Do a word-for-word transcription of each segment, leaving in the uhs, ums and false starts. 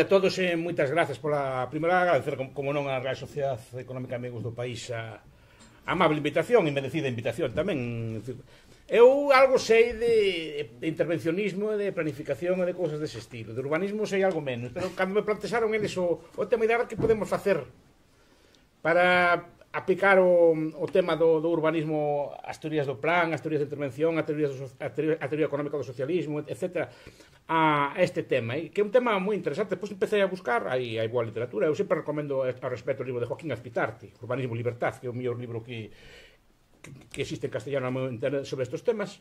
a todos e moitas grazas pola primeira agradecer como non a Real Sociedade Económica Amigos do País a amable invitación e merecida invitación tamén. Eu algo sei de, de intervencionismo, de planificación e de cousas dese estilo. De urbanismo sei algo menos, pero cando me plantexaron eles o, o tema de que podemos facer para aplicar o, o tema do, do urbanismo, as teorías do plan, as teorías de intervención, a teoría, do, a teoría, a teoría económica do socialismo, etcétera, a este tema, que é un tema moi interesante. Depois empecé a buscar, hai, hai boa literatura, eu sempre recomendo ao respecto o libro de Joaquín Azpitarte, Urbanismo e Libertad, que é o mellor libro que, que, que existe en castellano sobre estes temas.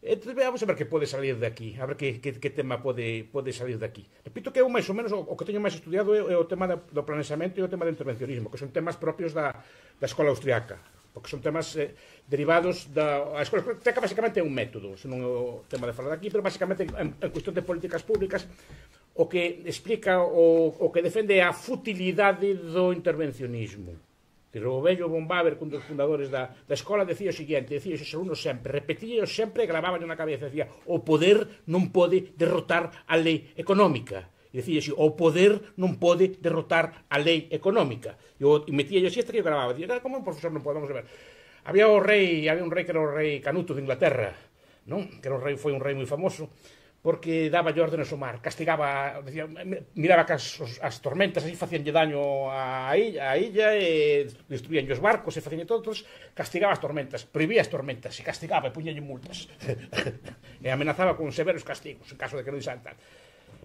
Entón, vamos a ver que pode salir de aquí, a ver que, que, que tema pode, pode salir de aquí. Repito que eu máis ou menos o, o que teño máis estudiado é, é o tema do, do planeamento e o tema do intervencionismo, que son temas propios da, da escola austriaca, porque son temas eh, derivados da... A escola austriaca basicamente é un método, se non é o tema de falar aquí, pero basicamente en, en cuestión de políticas públicas o que explica o, o que defende a futilidade do intervencionismo. O vello von Baber, un dos fundadores da, da escola, decía o seguinte, decía os alumnos sempre, repetía sempre e gravaban na cabeza, decía, o poder non pode derrotar a lei económica. E decía así, o poder non pode derrotar a lei económica. E, o, e metía yo así, este que eu gravaba, decía, como un profesor non podemos ver. Había o rei, había un rei que era o rei Canuto de Inglaterra, non? Que era o rei, foi un rei moi famoso, porque daba órdenes ao mar, castigaba, decía, miraba que as, as tormentas así facíanlle daño á illa, a illa e destruían os barcos e facíanlle todos, castigaba as tormentas, prohibía as tormentas, e castigaba e puñalle multas e amenazaba con severos castigos en caso de que non dixan tal.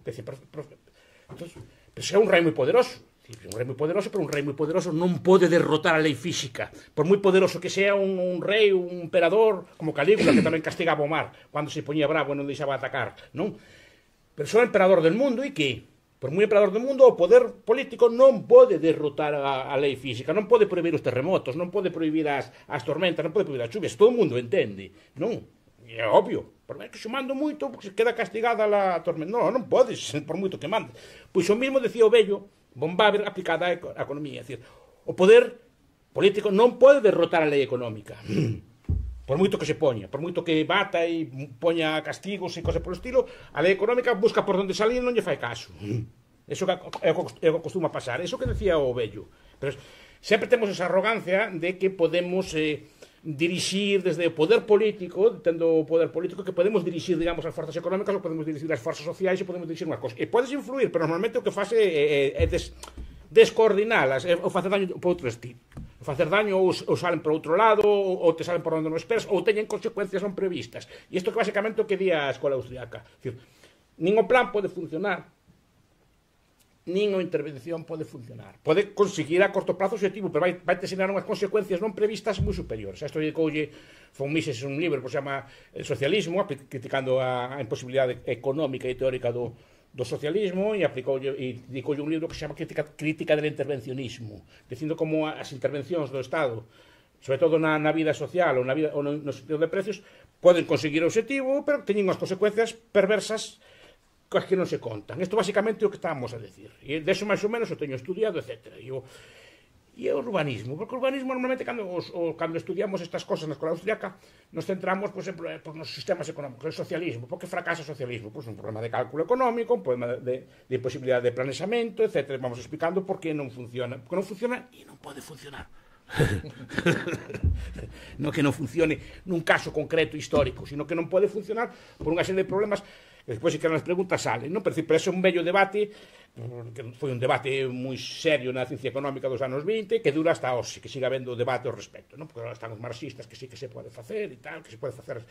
Entón, pero é un rei moi poderoso, un rei moi poderoso, pero un rei moi poderoso non pode derrotar a lei física, por moi poderoso que sea un, un rei, un emperador como Calígula, que tamén castigaba o mar cando se poñía bravo e non deixaba atacar, non? Pero só emperador del mundo, e que por moi emperador del mundo o poder político non pode derrotar a, a lei física, non pode prohibir os terremotos, non pode prohibir as, as tormentas, non pode prohibir as chuvias, todo o mundo entende, non? E é obvio, por máis que se mando moito, porque se queda castigada a tormenta, non, non podes, por moito que mande. Pois o mismo decía o vello von Baber aplicada á economía, é dicir, o poder político non pode derrotar a lei económica, por moito que se poña, por moito que bata e poña castigos e cosas por estilo, a lei económica busca por onde salir e non lle fai caso. Eso é o que costuma pasar, eso que decía o vello. Pero sempre temos esa arrogancia de que podemos eh, dirixir desde o poder político, tendo o poder político, que podemos dirixir, digamos, as forzas económicas, ou podemos dirixir as forzas sociais, e podemos dirixir unhas cosas. E podes influir, pero normalmente o que faz é, é, é des, descoordinalas, é, ou facer daño por outro estilo. O facer daño ou, ou salen por outro lado, ou, ou te salen por onde non esperas, ou teñen consecuencias non previstas. E isto que basicamente o que di a escola austriaca. Dicir, nin o plan pode funcionar, nin a intervención pode funcionar. Pode conseguir a corto plazo objetivo, pero vai, vai te ensinar unhas consecuencias non previstas moi superiores. Isto dedicoulle Von Mises un libro que se chama El socialismo, criticando a, a imposibilidade económica e teórica do, do socialismo, e aplicoulle e dedicoulle un libro que se chama Crítica, crítica del intervencionismo, dicindo como as intervencións do Estado, sobre todo na, na vida social ou, na vida, ou no, no sentido de precios, poden conseguir o objetivo, pero teñen unhas consecuencias perversas coas que non se contan. Isto basicamente é o que estamos a decir. E deso máis ou menos o teño estudiado, etcétera. E o, e o urbanismo, porque o urbanismo normalmente cando, os, o, cando estudiamos estas cosas na escola austriaca nos centramos, por exemplo, por nos sistemas económicos, o socialismo. Por que fracasa o socialismo? Pois un problema de cálculo económico, un problema de, de posibilidade de planeamento, etcétera. Vamos explicando por que non funciona. Porque non funciona e non pode funcionar. Non que non funcione nun caso concreto histórico, sino que non pode funcionar por unha serie de problemas que despois, se quedan as preguntas, salen, non? Pero, pero ese é un bello debate, que foi un debate moi serio na ciencia económica dos anos vinte, que dura hasta hoxe, que siga habendo debate ao respecto, non? Porque agora están os marxistas que sí que se pode facer e tal, que se pode facer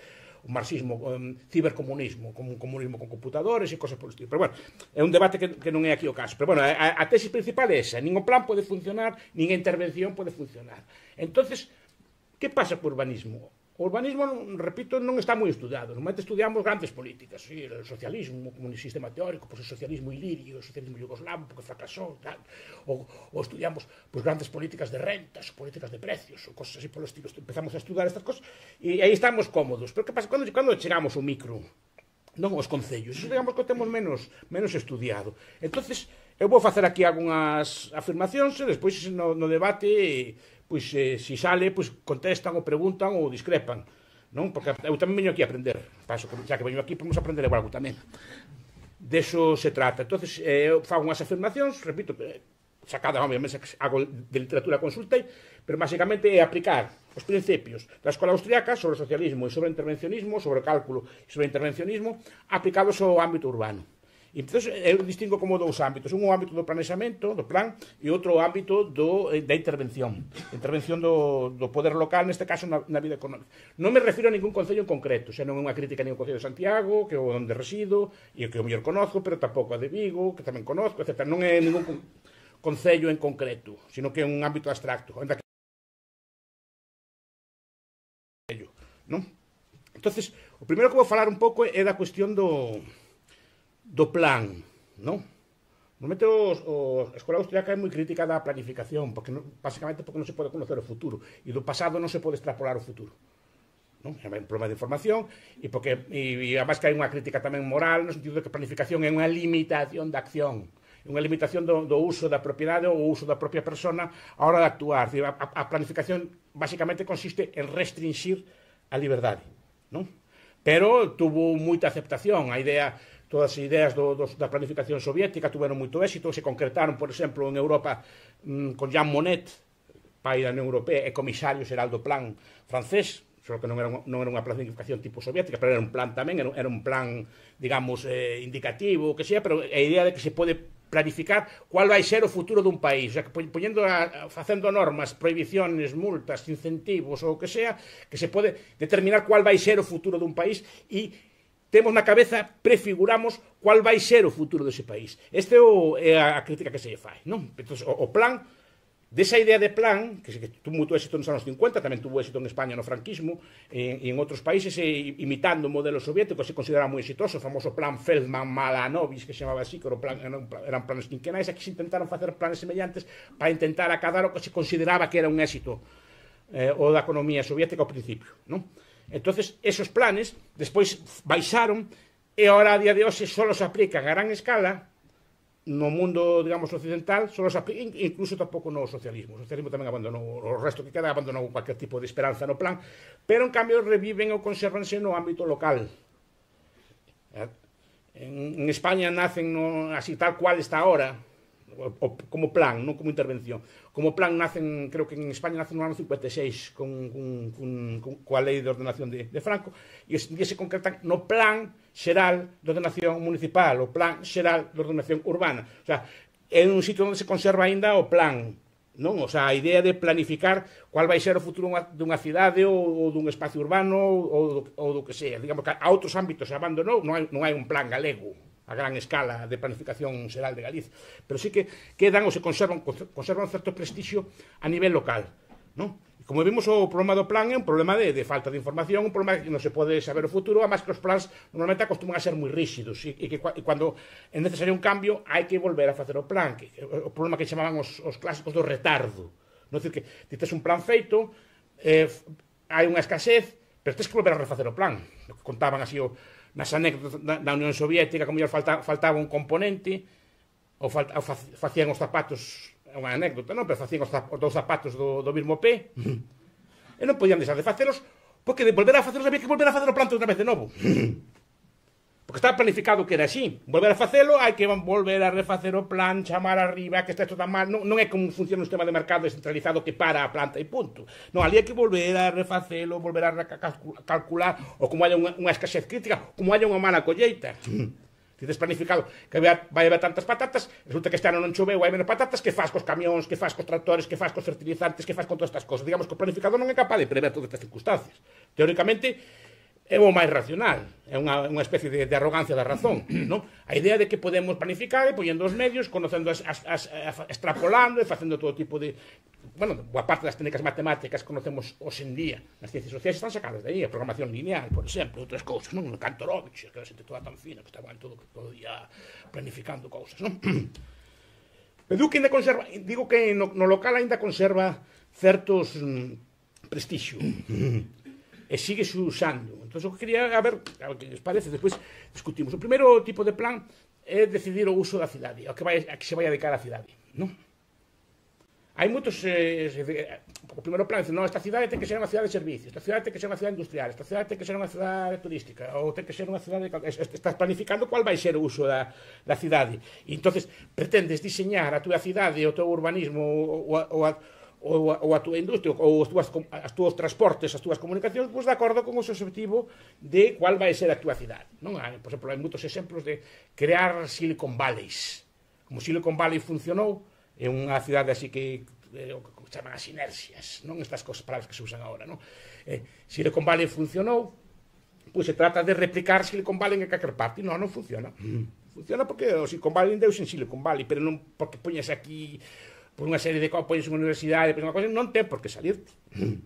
un marxismo, un cibercomunismo, como un comunismo con computadores e cosas por estilo. Pero, bueno, é un debate que, que non é aquí o caso. Pero, bueno, a, a tese principal é esa, nin o plan pode funcionar, nin a intervención pode funcionar. Entonces, que pasa co urbanismo? O urbanismo, repito, non está moi estudiado. Normalmente estudiamos grandes políticas, sí, o socialismo como un sistema teórico, pois o socialismo ilirio, o socialismo yugoslavo, porque fracasou, tal. Ou, ou estudiamos pois, grandes políticas de rentas, ou políticas de precios, ou cosas así polo estilo. Empezamos a estudar estas cosas e aí estamos cómodos. Pero que pasa? Cando, cando chegamos ao micro, non os concellos, iso digamos que o temos menos, menos estudiado. Entonces, eu vou facer aquí algunhas afirmacións e despois no, no debate, pois, eh, se sale, pois, contestan ou preguntan ou discrepan, non? Porque eu tamén veño aquí a aprender, paso que xa que veño aquí, podemos aprender algo tamén. deso se trata. Entonces, eh, eu fago unhas afirmacións, repito, sacada, obviamente, hago de literatura consultei, pero basicamente é aplicar os principios da escola austriaca sobre o socialismo e sobre o intervencionismo, sobre o cálculo e sobre o intervencionismo, aplicados ao ámbito urbano. E entón, eu distingo como dous ámbitos. Un o ámbito do planexamento, do plan, e outro o ámbito do, da intervención. Intervención do, do poder local, neste caso, na, na vida económica. Non me refiro a ningún concello en concreto, xa non é unha crítica a ningún concello de Santiago, que é onde resido, e que o mellor conozco, pero tampouco a de Vigo, que tamén conozco, etcétera. Non é ningún concello en concreto, sino que é un ámbito abstracto. Onde non? Entonces, o primeiro que vou falar un pouco é da cuestión do do plan, non? Normalmente os, os, a escola austriaca é moi crítica da planificación, porque non, basicamente porque non se pode conocer o futuro, e do pasado non se pode extrapolar o futuro. Non? É un problema de información, e porque e, e además que hai unha crítica tamén moral, no sentido de que a planificación é unha limitación da acción, é unha limitación do, do uso da propiedade ou o uso da propia persona a hora de actuar. A, a, a planificación basicamente consiste en restringir a liberdade, non? Pero tuvo moita aceptación. A idea, todas as ideas do, do, da planificación soviética tuveron moito éxito, se concretaron, por exemplo, en Europa mmm, con Jean Monnet, pai da Unión Europea e comisario xeral do plan francés, só que non era, non era unha planificación tipo soviética, pero era un plan tamén, era, era un plan, digamos, eh, indicativo, que sea, pero a idea de que se pode planificar cuál vai ser o futuro dun país, o sea, que poñendo a, facendo normas, prohibiciones, multas, incentivos ou o que sea, que se pode determinar cuál vai ser o futuro dun país e temos na cabeza, prefiguramos cuál vai ser o futuro dese país. Este é, o, é a crítica que se lle fai, non? Entón, o, o plan, desa idea de plan, que, que tuvo moito éxito nos anos cincuenta, tamén tuvo éxito en España no franquismo, e, e en outros países, e, imitando o modelo soviético, se consideraba moi exitoso, o famoso plan Feldman-Malanovich, que se chamaba así, que era plan, eran, eran planes quinquenais, aquí se intentaron facer planes semellantes para intentar acadar o que se consideraba que era un éxito eh, o da economía soviética ao principio, non? Entonces, esos planes, despois baixaron, e ahora a día de hoxe só se aplican a gran escala no mundo, digamos, occidental, só se aplican, incluso tampouco no socialismo. O socialismo tamén abandonou, o resto que queda abandonou cualquier tipo de esperanza no plan, pero en cambio reviven ou conservanse no ámbito local. En, en España nacen no, así tal cual está ahora, o, o, como plan, non como intervención. Como plan nacen, creo que en España nacen no ano cincuenta e seis con, con, con, con coa lei de ordenación de, de Franco, e, e se concretan no plan xeral de ordenación municipal, o plan xeral de ordenación urbana. O sea, é un sitio onde se conserva aínda o plan, non? O sea, a idea de planificar cuál vai ser o futuro dunha cidade ou, ou dun espacio urbano ou, ou do que sea. Digamos que a outros ámbitos se abandonou, non hai, non hai un plan galego a gran escala de planificación xeral de Galicia, pero sí que quedan ou se conservan, conservan certo prestixio a nivel local, non? E como vimos, o problema do plan é un problema de, de falta de información, un problema que non se pode saber o futuro, además que os plans normalmente acostuman a ser moi rígidos, e, e que e cando é necesario un cambio hai que volver a facer o plan, que, o problema que chamaban os, os clásicos do retardo, non? É dicir, que tes un plan feito, eh, hai unha escasez, pero tens que volver a refacer o plan, o que contaban así o nas anécdotas da Unión Soviética, como mellor falta, faltaba un componente, ou, falta, ou facían os zapatos, é unha anécdota, non? Pero facían os, os dous zapatos do, do mesmo pé, e non podían deixar de facelos, porque de volver a facelos había que volver a facer o planta outra vez de novo. Porque estaba planificado que era así. Volver a facelo, hai que volver a refacer o plan, chamar arriba, que está isto tan mal. Non, non é como funciona un sistema de mercado descentralizado que para a planta e punto. Non, ali hai que volver a refacelo, volver a calcular, ou como hai unha, unha escasez crítica, como hai unha mala colleita. Si tes planificado que vai haber tantas patatas, resulta que este ano non choveu, hai menos patatas, que faz cos camións, que faz cos tractores, que faz cos fertilizantes, que faz con todas estas cosas. Digamos que o planificador non é capaz de prever todas estas circunstancias. Teóricamente, é o máis racional, é unha, unha especie de, de arrogancia da razón, non? A idea de que podemos planificar e poñendo os medios, conocendo, as, as, as, extrapolando e facendo todo tipo de... Bueno, boa parte das técnicas matemáticas que conocemos hoxendía nas ciencias sociais están sacadas de aí, a programación lineal, por exemplo, outras cousas, non? O Kantorovich, que a xente toda tan fina, que estaban todo, todo día planificando cousas, non? Pero digo que ainda conserva, digo que no, no local ainda conserva certos mm, prestixio. E sigue se usando. Entón, o que quería, a ver, a ver que les parece, despois discutimos. O primeiro tipo de plan é decidir o uso da cidade, o que, vai, a que se vai a dedicar a cidade, non? hai moitos eh, o primeiro plan dice, non, esta cidade ten que ser unha cidade de servicios, esta cidade ten que ser unha cidade industrial, esta cidade ten que ser unha cidade turística, ou ten que ser unha cidade, estás planificando qual vai ser o uso da, da cidade, e entonces pretendes diseñar a túa cidade, o teu urbanismo, ou a, ou a, ou a, ou a túa industria, ou os túas, as túas transportes, as túas comunicacións, pois de acordo con o seu objetivo de qual vai ser a túa cidade, non? Hai, por exemplo, hai moitos exemplos de crear Silicon Valleys, como Silicon Valley funcionou, é unha cidade así que eh, o que chaman as inercias, non estas cosas, palabras que se usan agora, non? Eh, Silicon Valley funcionou, pois se trata de replicar Silicon Valley en calquer parte, non, non funciona. Mm. Funciona porque o Silicon Valley deus en Silicon Valley, pero non porque poñes aquí por unha serie de cosas, poñes unha universidade, poñes unha cosa, non ten por que salirte. Mm.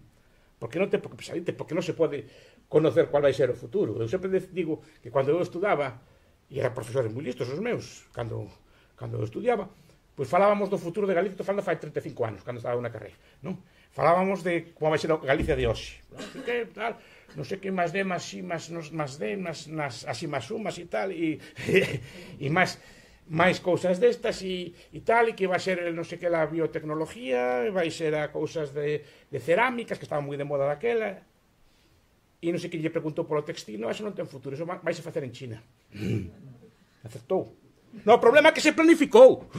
Porque non ten por que salirte, porque non se pode conocer cual vai ser o futuro. Eu sempre digo que cando eu estudaba, e eran profesores moi listos os meus, cando, cando eu estudiaba, pois falábamos do futuro de Galicia, estou falando fai treinta e cinco anos, cando estaba na carreira, non? Falábamos de como vai ser a Galicia de hoxe, non sei que, tal, non sei que, máis D, máis I, máis, máis D, máis, máis, así, máis U, máis e tal, e, e máis, máis cousas destas, e, e tal, e que vai ser, non sei que, a biotecnología, vai ser a cousas de, de cerámicas, que estaban moi de moda daquela, e non sei que lle preguntou polo textil, non, eso non ten futuro, eso vai se facer en China. Acertou. No, o problema é que se planificou.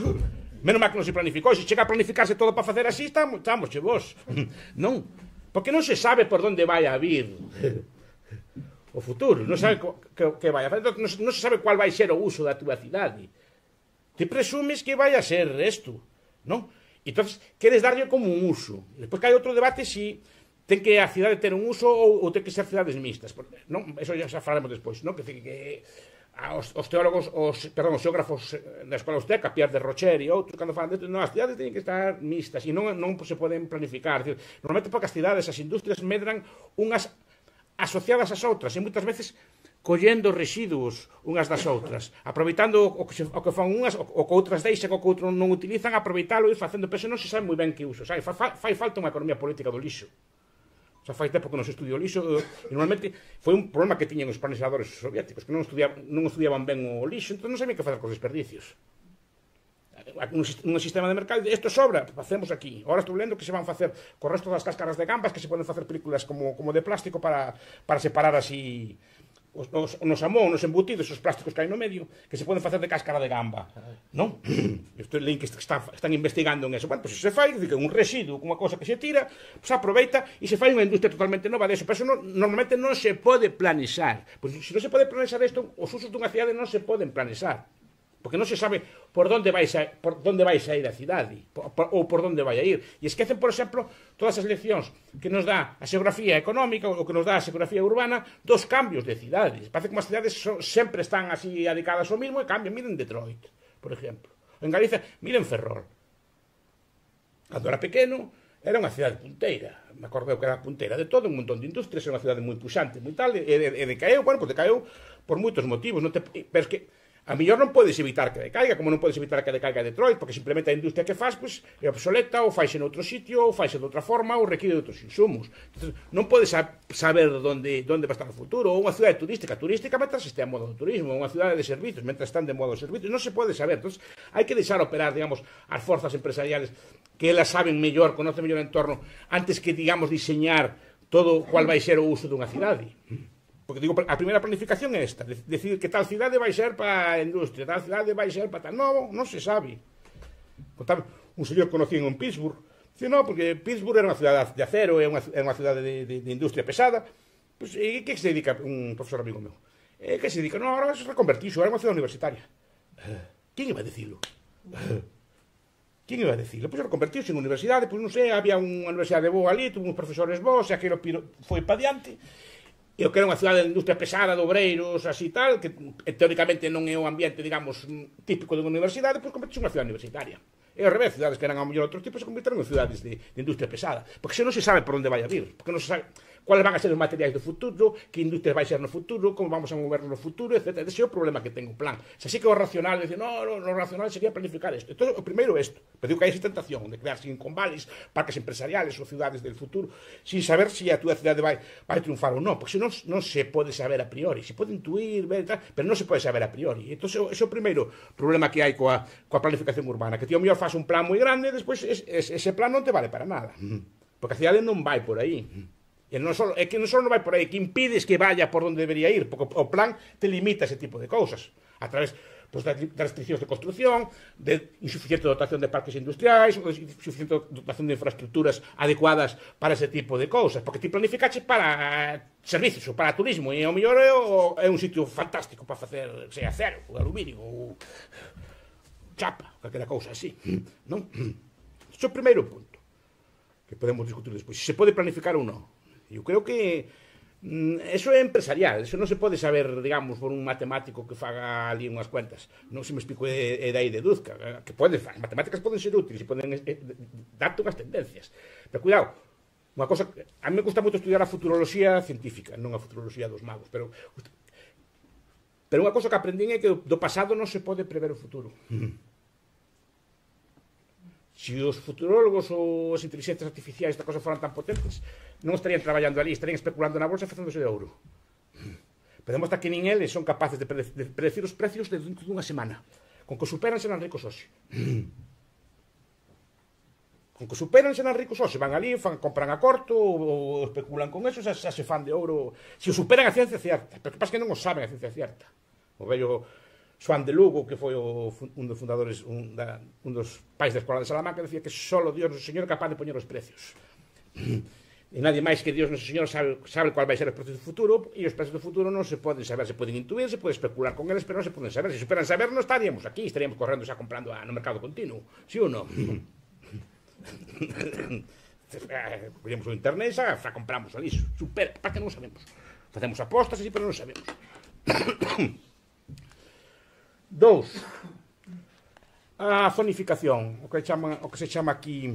Menos mal que non se planificou. Se chega a planificarse todo para facer así, estamos, estamos che vos. Non. Porque non se sabe por onde vai a vir o futuro. Non sabe que, que vai a fazer. Non, non se sabe cuál vai ser o uso da túa cidade. Te presumes que vai a ser isto, non? E entón, queres darlle como un uso. E despois que hai outro debate si ten que a cidade ter un uso ou, ou ten que ser cidades mixtas. Non? Eso ya xa falaremos despois, non? Que, que Os, os teólogos, os, perdón, os xeógrafos da Escola Austriaca, Pierre de Rocher e outros, cando falan desto, non, as cidades teñen que estar mixtas e non, non se poden planificar. Decir, normalmente porque as cidades, as industrias medran unhas asociadas ás outras e moitas veces collendo residuos unhas das outras, aproveitando o que, se, o que fan unhas, o, o que outras deixan, o que outros non utilizan, aproveitalo e facendo, pero non se sabe moi ben que uso, sabe? Fa, fa, fai falta unha economía política do lixo. O sea, fai tempo que non se estudiou o lixo, e normalmente foi un problema que tiñan os planificadores soviéticos, que non estudiaban, non estudiaban ben o lixo, entón non sabían que facer cos desperdicios. Un, un sistema de mercado, isto sobra, facemos aquí. Ahora estou lendo que se van facer co resto das cáscaras de gambas, que se poden facer películas como, como de plástico para, para separar así os, os, nos amón, nos embutidos, os plásticos que hai no medio, que se poden facer de cáscara de gamba, non? Estou lendo que están, están investigando en eso. Bueno, pois pues se fai, dice, un residuo, unha cosa que se tira, pues aproveita e se fai unha industria totalmente nova deso. Pero eso no, normalmente non se pode planexar. Pois pues, se non se pode planexar isto, os usos dunha cidade non se poden planexar. Porque non se sabe por onde vai a, por onde vai a ir a cidade, por, por, ou por onde vai a ir. E esquecen, por exemplo, todas as leccións que nos dá a xeografía económica ou que nos dá a xeografía urbana dos cambios de cidades. Parece que as cidades so, sempre están así adicadas ao mismo e cambian. Miren Detroit, por exemplo. En Galicia, miren Ferrol. Cando era pequeno, era unha cidade punteira. Me acordeu que era punteira de todo, un montón de industrias, era unha cidade moi puxante, moi tal, e, e, e decaeu, bueno, pues decaeu por moitos motivos. Non te, pero es que a mellor non podes evitar que decaiga, como non podes evitar que decaiga Detroit, porque simplemente a industria que faz, pois, é obsoleta, ou faise noutro sitio, ou faise de outra forma, ou require de outros insumos. Entonces, non podes saber onde, onde va a estar o futuro. Ou unha cidade turística, turística mentras este a modo do turismo, unha cidade de servicios, mentras están de modo de servicios, non se pode saber. Entonces, hai que deixar operar, digamos, as forzas empresariales, que elas saben mellor, conocen mellor o entorno, antes que, digamos, diseñar todo cual vai ser o uso dunha cidade. Porque digo, a primeira planificación é esta, decidir que tal cidade vai ser para a industria, tal cidade vai ser para tal. Non, non se sabe. Un señor conocido en Pittsburgh, dice, non, porque Pittsburgh era unha cidade de acero, é unha, é unha cidade de, de, de industria pesada. Pues, e que se dedica un profesor amigo meu? E que se dedica? Non, agora se reconvertixo, era unha cidade universitaria. Quen iba a decirlo? Quen iba a decirlo? Pois reconvertiuse en universidade, pois non sei, había unha universidade boa ali, tuvo uns profesores bons, e aquilo foi pa diante. E o que era unha cidade de industria pesada, de obreiros, así tal, que teóricamente non é o ambiente, digamos, típico de unha universidade, pois convertixe en unha cidade universitaria. E ao revés, cidades que eran ao mellor outros tipos se convirteron en cidades de, de industria pesada. Porque se non se sabe por onde vai a vir, porque non se sabe, cuáles van a ser os materiais do futuro, que industria vai ser no futuro, como vamos a mover no futuro, etcétera. Ese é o problema que ten o plan. Se así que o racional, dice, no, no, lo racional sería planificar isto. Entón, o primeiro é isto. Pero digo que hai esa tentación de crear Silicon Valleys, parques empresariales ou ciudades del futuro, sin saber se si a túa cidade vai, vai triunfar ou non, porque senón non se pode saber a priori. Se pode intuir, ver, tal, pero non se pode saber a priori. Entón, ese é o primeiro problema que hai coa, coa planificación urbana, que ti ao mellor faz un plan moi grande e despois ese plan non te vale para nada. Porque a cidade non vai por aí. E non só, é que non só non vai por aí, que impides que vaya por onde debería ir, porque o plan te limita ese tipo de cousas, a través pues, das restriccións de construcción, de insuficiente dotación de parques industriais, ou de insuficiente dotación de infraestructuras adecuadas para ese tipo de cousas, porque ti planificaches para servicios ou para turismo, e ao mellor é, é un sitio fantástico para facer, sei, acero, ou aluminio, ou chapa, calquera cousa así, non? Isto é o primeiro punto que podemos discutir despois, se se pode planificar ou non. Eu creo que mm, eso é empresarial, eso non se pode saber, digamos, por un matemático que faga ali unhas cuentas. Non se me explico é, é dai deduzca, que pode, as matemáticas poden ser útiles e poden eh, darte unhas tendencias. Pero cuidado, unha cosa, a mí me gusta moito estudiar a futuroloxía científica, non a futuroloxía dos magos, pero pero unha cosa que aprendín é que do pasado non se pode prever o futuro. Se os futurólogos ou as inteligencias artificiais esta cosa foran tan potentes, non estarían traballando ali, estarían especulando na bolsa e facéndose de ouro. Pero demostra que nin eles son capaces de predecir os precios dentro dunha semana. Con que superan serán ricos hoxe. Con que superan serán ricos hoxe. Van ali, fan, compran a corto ou especulan con eso, xa, xa se fan de ouro. Se o superan a ciencia cierta. Pero que pasa que non o saben a ciencia cierta. O vello Xoan de Lugo, que foi o, un dos fundadores, un, da, un dos pais da Escola de Salamanca, decía que solo Dios, o Señor, é capaz de poñer os precios. E nadie máis que Dios, noso Señor, sabe, sabe cuál vai ser os precios do futuro, e os precios do futuro non se poden saber, se poden intuir, se pode especular con eles, pero non se poden saber. Se superan saber, non estaríamos aquí, estaríamos correndo xa comprando a, no mercado continuo, si ou non? Poñemos o internet e xa, xa compramos ali, supera, para que non sabemos. Facemos apostas así, pero non sabemos. Dous, a zonificación, o que, chama, o que se chama aquí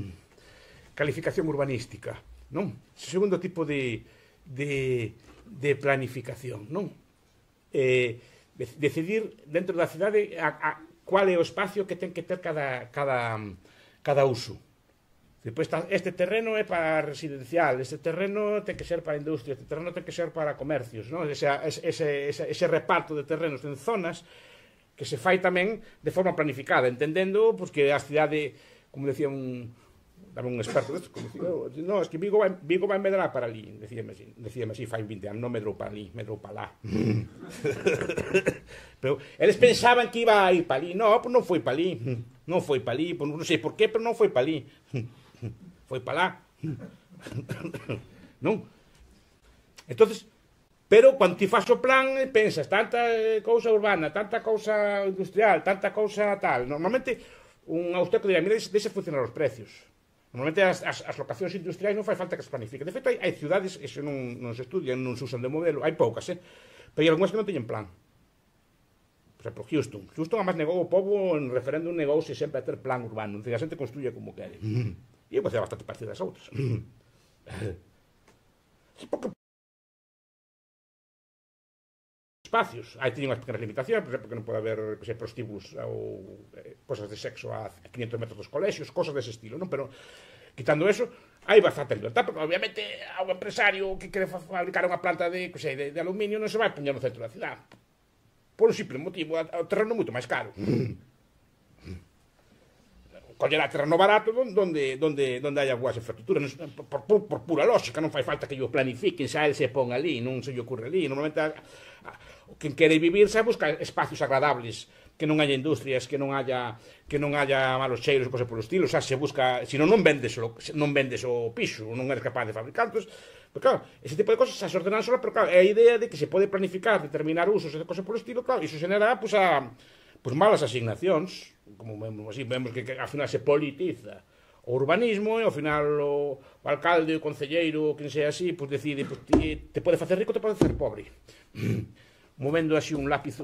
calificación urbanística, non? O segundo tipo de, de, de planificación, non? Eh, decidir dentro da cidade a, a, cuál é o espacio que ten que ter cada, cada, cada uso. Depois, este terreno é para residencial, este terreno ten que ser para industria, este terreno ten que ser para comercios, non? Ese, ese, ese, ese reparto de terrenos en zonas que se fai tamén de forma planificada, entendendo pues, que a cidade, como decía un, un experto desto, como decía, no, es que Vigo vai, Vigo vai medrar para ali, decíame así, decíame así, fai vinte anos, non medrou para ali, medrou para lá. Pero eles pensaban que iba a ir para ali, no, pues non foi para ali, non foi para ali, pues non sei por qué, pero non foi para ali, foi para lá. Non? Entonces, pero cando ti faz o plan, pensas tanta cousa urbana, tanta cousa industrial, tanta cousa tal. Normalmente, un austeco dirá, mira, deixa funcionar os precios. Normalmente, as, as, as locacións industriais non fai falta que se planifiquen. De feito, hai, hai ciudades, eso non, non se estudian, non se usan de modelo, hai poucas, eh? Pero hai algunhas que non teñen plan. Por exemplo, Houston. Houston, además, negou o povo en referéndum, negouse sempre a ter plan urbano. Entón, a xente construye como quere. E eu facía bastante parecido das outras. Porque espacios. Aí teñen unhas pequenas limitacións, por exemplo, que non pode haber que sei, prostíbulos ou eh, cosas de sexo a quinhentos metros dos colexios, cosas dese estilo, non? Pero, quitando eso, hai bastante libertad, porque obviamente a un empresario que quere fabricar unha planta de, que sei, de, de aluminio non se vai poñer no centro da cidade. Por un simple motivo, o terreno é moito máis caro. Collerá terreno barato donde, donde, donde haya boas infraestructuras, por, por, por pura lógica, non fai falta que yo planifiquen, xa el se pon ali, non se lle ocurre ali. Normalmente, a, a, quen quere vivir xa busca espacios agradables, que non haya industrias, que non haya que non haya malos cheiros e cosas polo estilo, xa se busca, se non non vendes o, non vendes o piso, non eres capaz de fabricar, entón, pero claro, ese tipo de cosas xa se ordenan sola, pero claro, é a idea de que se pode planificar, determinar usos e cosas polo estilo, claro, iso xenera, pues, a, pues, malas asignacións, como vemos así, vemos que, que ao final se politiza o urbanismo e ao final o, o alcalde, o concelleiro, quen sea así, pues decide, pues, te, te pode facer rico, te pode facer pobre. Movendo así un lápiz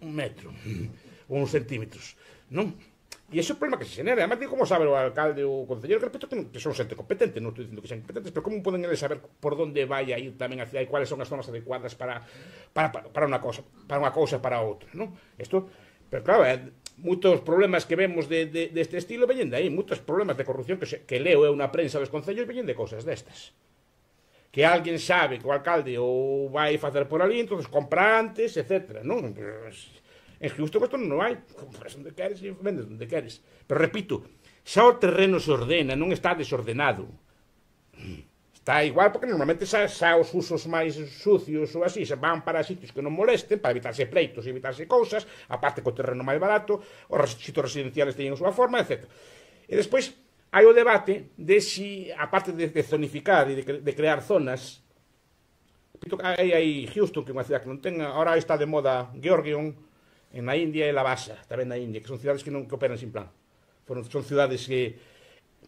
un metro ou uns centímetros, non? E ese é o problema que se genera. Además, digo, como sabe o alcalde ou o concelleiro, que repito que son xente competente, non estou dicindo que sean competentes, pero como poden eles saber por onde vai a ir tamén a cidade e cuáles son as zonas adecuadas para, para, para unha cosa, para unha cousa para outra, non? Isto, pero claro, é, moitos problemas que vemos de, de, deste estilo veñen de aí, moitos problemas de corrupción que, se, que leo eu na prensa dos concellos veñen de cousas destas. Que alguén sabe que o alcalde ou vai facer por ali, entón compra antes, etcétera, non? En justo isto non hai, compras onde queres e vendes onde queres. Pero repito, xa o terreno se ordena, non está desordenado. Está igual porque normalmente xa, xa os usos máis sucios ou así se van para sitios que non molesten, para evitarse pleitos e evitarse cousas, aparte co terreno máis barato, os sitios residenciales teñen a súa forma, etcétera. E despois hai o debate de si, aparte de, de zonificar e de, de crear zonas, hai aí Houston, que é unha cidade que non ten, ahora está de moda Georgion, en na India e Lavasa, tamén na India, que son cidades que non que operan sin plan. Foron, son cidades que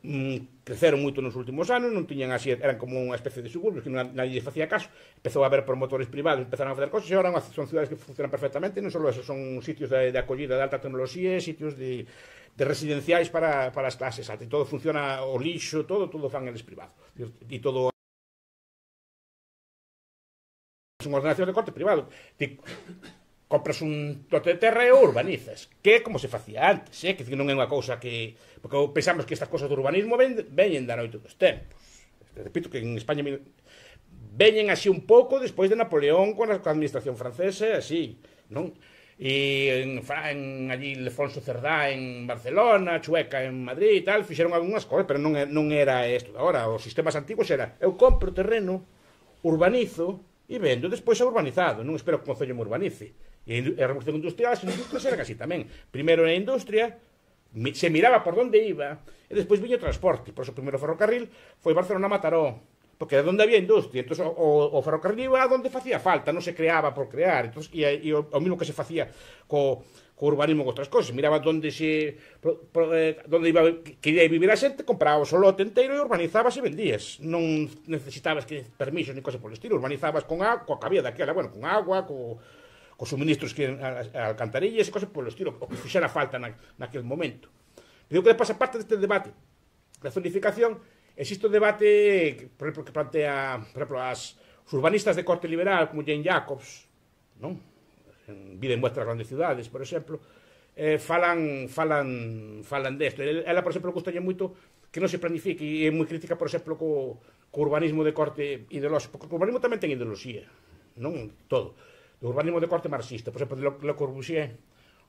mm, creceron moito nos últimos anos, non tiñan así, eran como unha especie de suburbios que non, nadie facía caso, empezou a haber promotores privados, empezaron a facer cosas, e agora son cidades que funcionan perfectamente, non só eso, son sitios de, de acollida de alta tecnoloxía, sitios de, de residenciais para, para as clases altas, e todo funciona, o lixo, todo, todo fan eles privado, e todo son ordenacións de corte privado. Te, compras un lote de terra e o urbanizas, que é como se facía antes, eh? Que non é unha cousa que... Porque pensamos que estas cousas do urbanismo ven, veñen da noite dos tempos. Repito que en España veñen así un pouco despois de Napoleón con a administración francesa, así, non? E en, en allí Lefonso Cerdá en Barcelona, Chueca en Madrid e tal, fixeron algunhas cousas, pero non, non era isto. Agora, os sistemas antigos era, eu compro terreno, urbanizo e vendo, despois é urbanizado, non espero que o concello me urbanice. E a revolución industrial, as industrias eran así tamén. Primeiro na industria, se miraba por onde iba, e despois viño o transporte. Por eso o primeiro ferrocarril foi Barcelona-Mataró, porque era onde había industria. Entón, o, o ferrocarril iba onde facía falta, non se creaba por crear. Entón, e, e o, o mismo que se facía co, co urbanismo con outras cousas. Miraba onde se pro, pro, eh, onde iba, quería vivir a xente, compraba o lote inteiro e urbanizabas e vendías. Non necesitabas que permisos ni cosas por el estilo. Urbanizabas con agua, coa cabía daquela, bueno, con agua, co os suministros que a, a alcantarillas e cosas polo estilo, o que fixera falta na, naquele momento. Digo que pasa parte deste debate da zonificación, existe o debate por exemplo, que plantea por exemplo, as, os urbanistas de corte liberal como Jane Jacobs, non? En Vida en vuestras grandes ciudades, por exemplo, eh, falan falan falan desto. Ela, por exemplo, gustalle moito que non se planifique e é moi crítica, por exemplo, co, co urbanismo de corte ideolóxico, porque o urbanismo tamén ten ideoloxía, non todo. O urbanismo de corte marxista, por exemplo, de Le Corbusier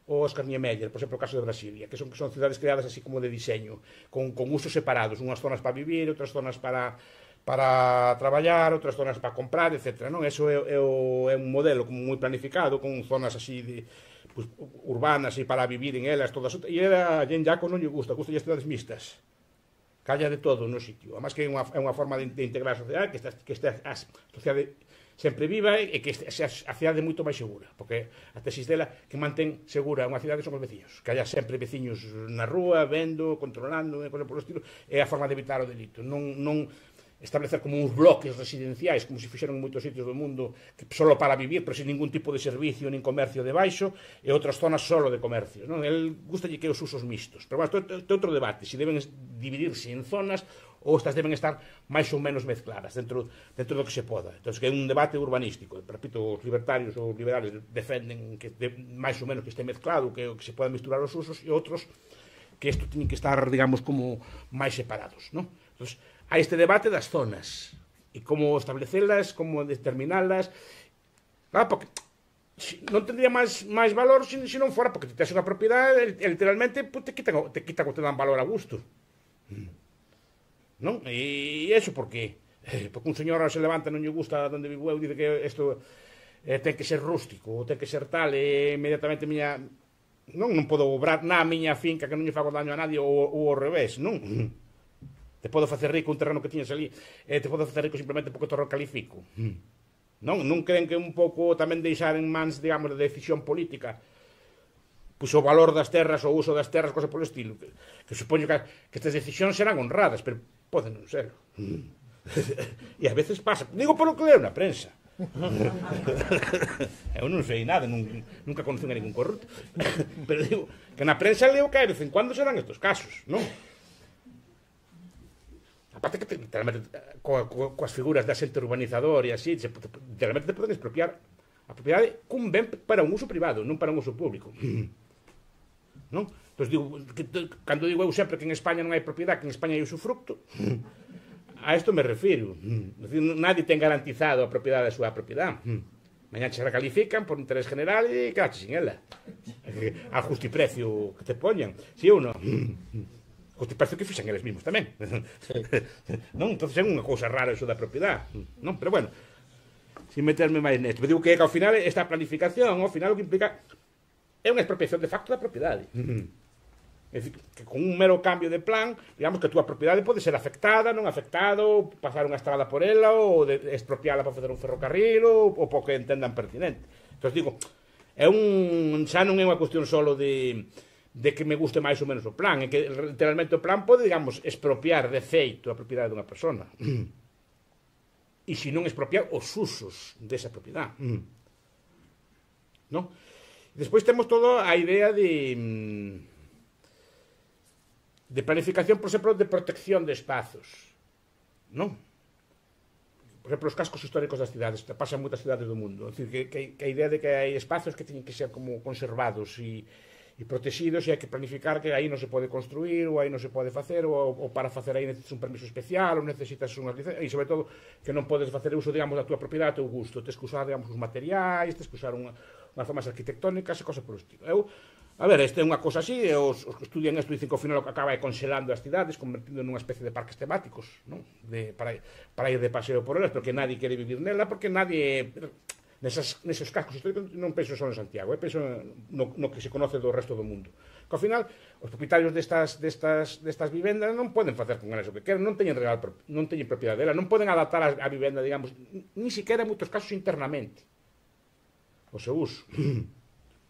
ou Oscar Niemeyer, por exemplo, o caso de Brasilia, que son, que son cidades creadas así como de diseño, con, con usos separados, unhas zonas para vivir, outras zonas para, para traballar, outras zonas para comprar, etcétera. Non? Eso é, é, o, é un modelo como moi planificado, con zonas así de, pues, urbanas e para vivir en elas, todas. E a Jane Jacobs non lle gusta, gusta as cidades mixtas. Calla de todo no sitio. Además que é unha, é unha forma de, de integrar a sociedade, que esta, que esta a sociedade sempre viva e que sea a cidade moito máis segura, porque a tesis dela que mantén segura unha cidade son os veciños, que haya sempre veciños na rúa, vendo, controlando, e cousas polo estilo, é a forma de evitar o delito. Non, non establecer como uns bloques residenciais, como se fixeron en moitos sitios do mundo, que solo para vivir, pero sin ningún tipo de servicio nin comercio debaixo, e outras zonas solo de comercio. Non? El gustalle que os usos mixtos. Pero, bueno, isto é outro debate, se deben dividirse en zonas ou estas deben estar máis ou menos mezcladas dentro, dentro do que se poda. Entón, que é un debate urbanístico. Repito, os libertarios ou liberales defenden que de, máis ou menos que este mezclado, que, que se podan misturar os usos, e outros que isto teñen que estar, digamos, como máis separados. Non? Entón, hai este debate das zonas e como establecelas, como determinalas. Claro, porque non tendría máis, máis valor se, se non fora, porque te tes unha propiedade, literalmente pues, te quitan, te quitan o te dan valor a gusto. Non? E iso porque porque un señor se levanta e non lle gusta onde vivo eu, dice que isto eh, ten que ser rústico, ten que ser tal, e inmediatamente miña non, non podo obrar na miña finca que non lle fago daño a nadie ou, ou ao revés, non? Te podo facer rico un terreno que tiñas ali, e te podo facer rico simplemente porque te recalifico. Non? Non creen que un pouco tamén deixar en mans, digamos, de decisión política pois o valor das terras, o uso das terras, cosas polo estilo, que, que supoño que, que estas decisións serán honradas, pero poden non ser. E a veces pasa, digo polo que leo na prensa, Eu non sei nada, nunca conocen a ningún corrupto. Pero digo, que na prensa leo que de vez en cuando se dan estos casos, non? Aparte que coas figuras de asente urbanizador e así, literalmente te poden expropiar a propiedade cun ben para un uso privado, non para un uso público. Non? Entón, digo, cando digo eu sempre que en España non hai propiedade, que en España hai usufructo, a isto me refiro. Nadie ten garantizado a propiedade da súa propiedade. Mañá se recalifican por interés general e quedaste sin ela. A justiprecio que te poñan. Si ou non? Justiprecio que fixan eles mismos tamén. Non? Entón é unha cousa rara iso da propiedade. Non? Pero bueno, sin meterme máis nesto. Digo que ao final esta planificación, ao final o que implica é unha expropiación de facto da propiedade. É dicir, que con un mero cambio de plan, digamos que a túa propiedade pode ser afectada, non afectada, ou pasar unha estrada por ela, ou de expropiala para facer un ferrocarril, ou, ou porque entendan pertinente. Entón, digo, é un, xa non é unha cuestión solo de, de que me guste máis ou menos o plan, é que literalmente o plan pode, digamos, expropiar de feito a propiedade dunha persona. E se non expropiar os usos desa propiedade. Non? Despois temos toda a idea de... de planificación, por exemplo, de protección de espazos, non? Por exemplo, os cascos históricos das cidades, pasan moitas cidades do mundo, é dicir, que, que, que a idea de que hai espacios que teñen que ser como conservados e, e protegidos, e hai que planificar que aí non se pode construir, ou aí non se pode facer, ou, ou para facer aí necesitas un permiso especial, ou necesitas unhas licencias, e sobre todo que non podes facer uso, digamos, da túa propiedade a teu gusto, tens que usar, digamos, os materiais, tens que usar unha, unhas formas arquitectónicas e cosas por estilo. Eu, a ver, este é unha cosa así, e os, os que estudian isto dicen que ao final o que acaba é congelando as cidades, convertindo nunha especie de parques temáticos, non? De, para, para ir de paseo por elas, porque nadie quere vivir nela, porque nadie... Nesas, neses cascos históricos non penso só en Santiago, eh? Penso no, no que se conoce do resto do mundo. Que ao final, os propietarios destas, destas, destas vivendas non poden facer con elas o que queren, non teñen real, non teñen propiedade dela, non poden adaptar a, a vivenda, digamos, ni siquiera en moitos casos internamente o seu uso.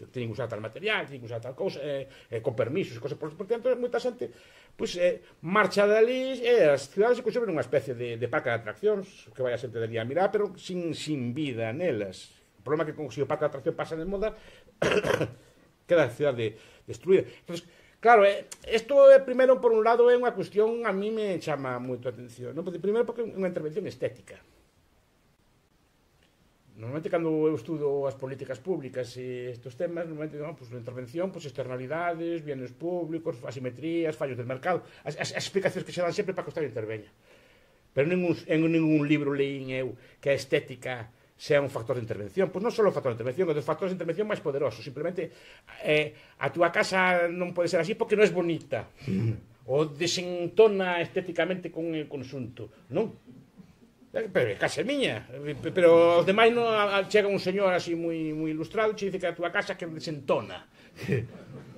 Teñen que usar tal material, teñen que usar tal cousa, eh, eh, con permisos, cosas por, por tanto, moita xente pois, eh, marcha dali, e eh, as cidades se conservan unha especie de, de parque de atraccións, que vai a xente dali a mirar, pero sin, sin vida nelas. O problema é que, se o parque de atracción pasa de moda, queda a cidade destruída. Entonces, claro, isto, eh, primeiro, por un lado, é unha cuestión, a mí me chama moito a atención, non? Primeiro, porque é unha intervención estética. Normalmente, cando eu estudo as políticas públicas e estes temas, normalmente, non, pues, a intervención, pues, externalidades, bienes públicos, asimetrías, fallos del mercado, as, as, as explicacións que se dan sempre para que o Estado interveña. Pero ningún, en ningún libro leín eu que a estética sea un factor de intervención. Pois non só o factor de intervención, é dos factores de intervención máis poderosos. Simplemente, eh, a túa casa non pode ser así porque non é bonita, ou desentona estéticamente con el conxunto, non? Pero é casa miña, pero os demais non, chega un señor así moi, moi ilustrado e che dice que a túa casa que desentona,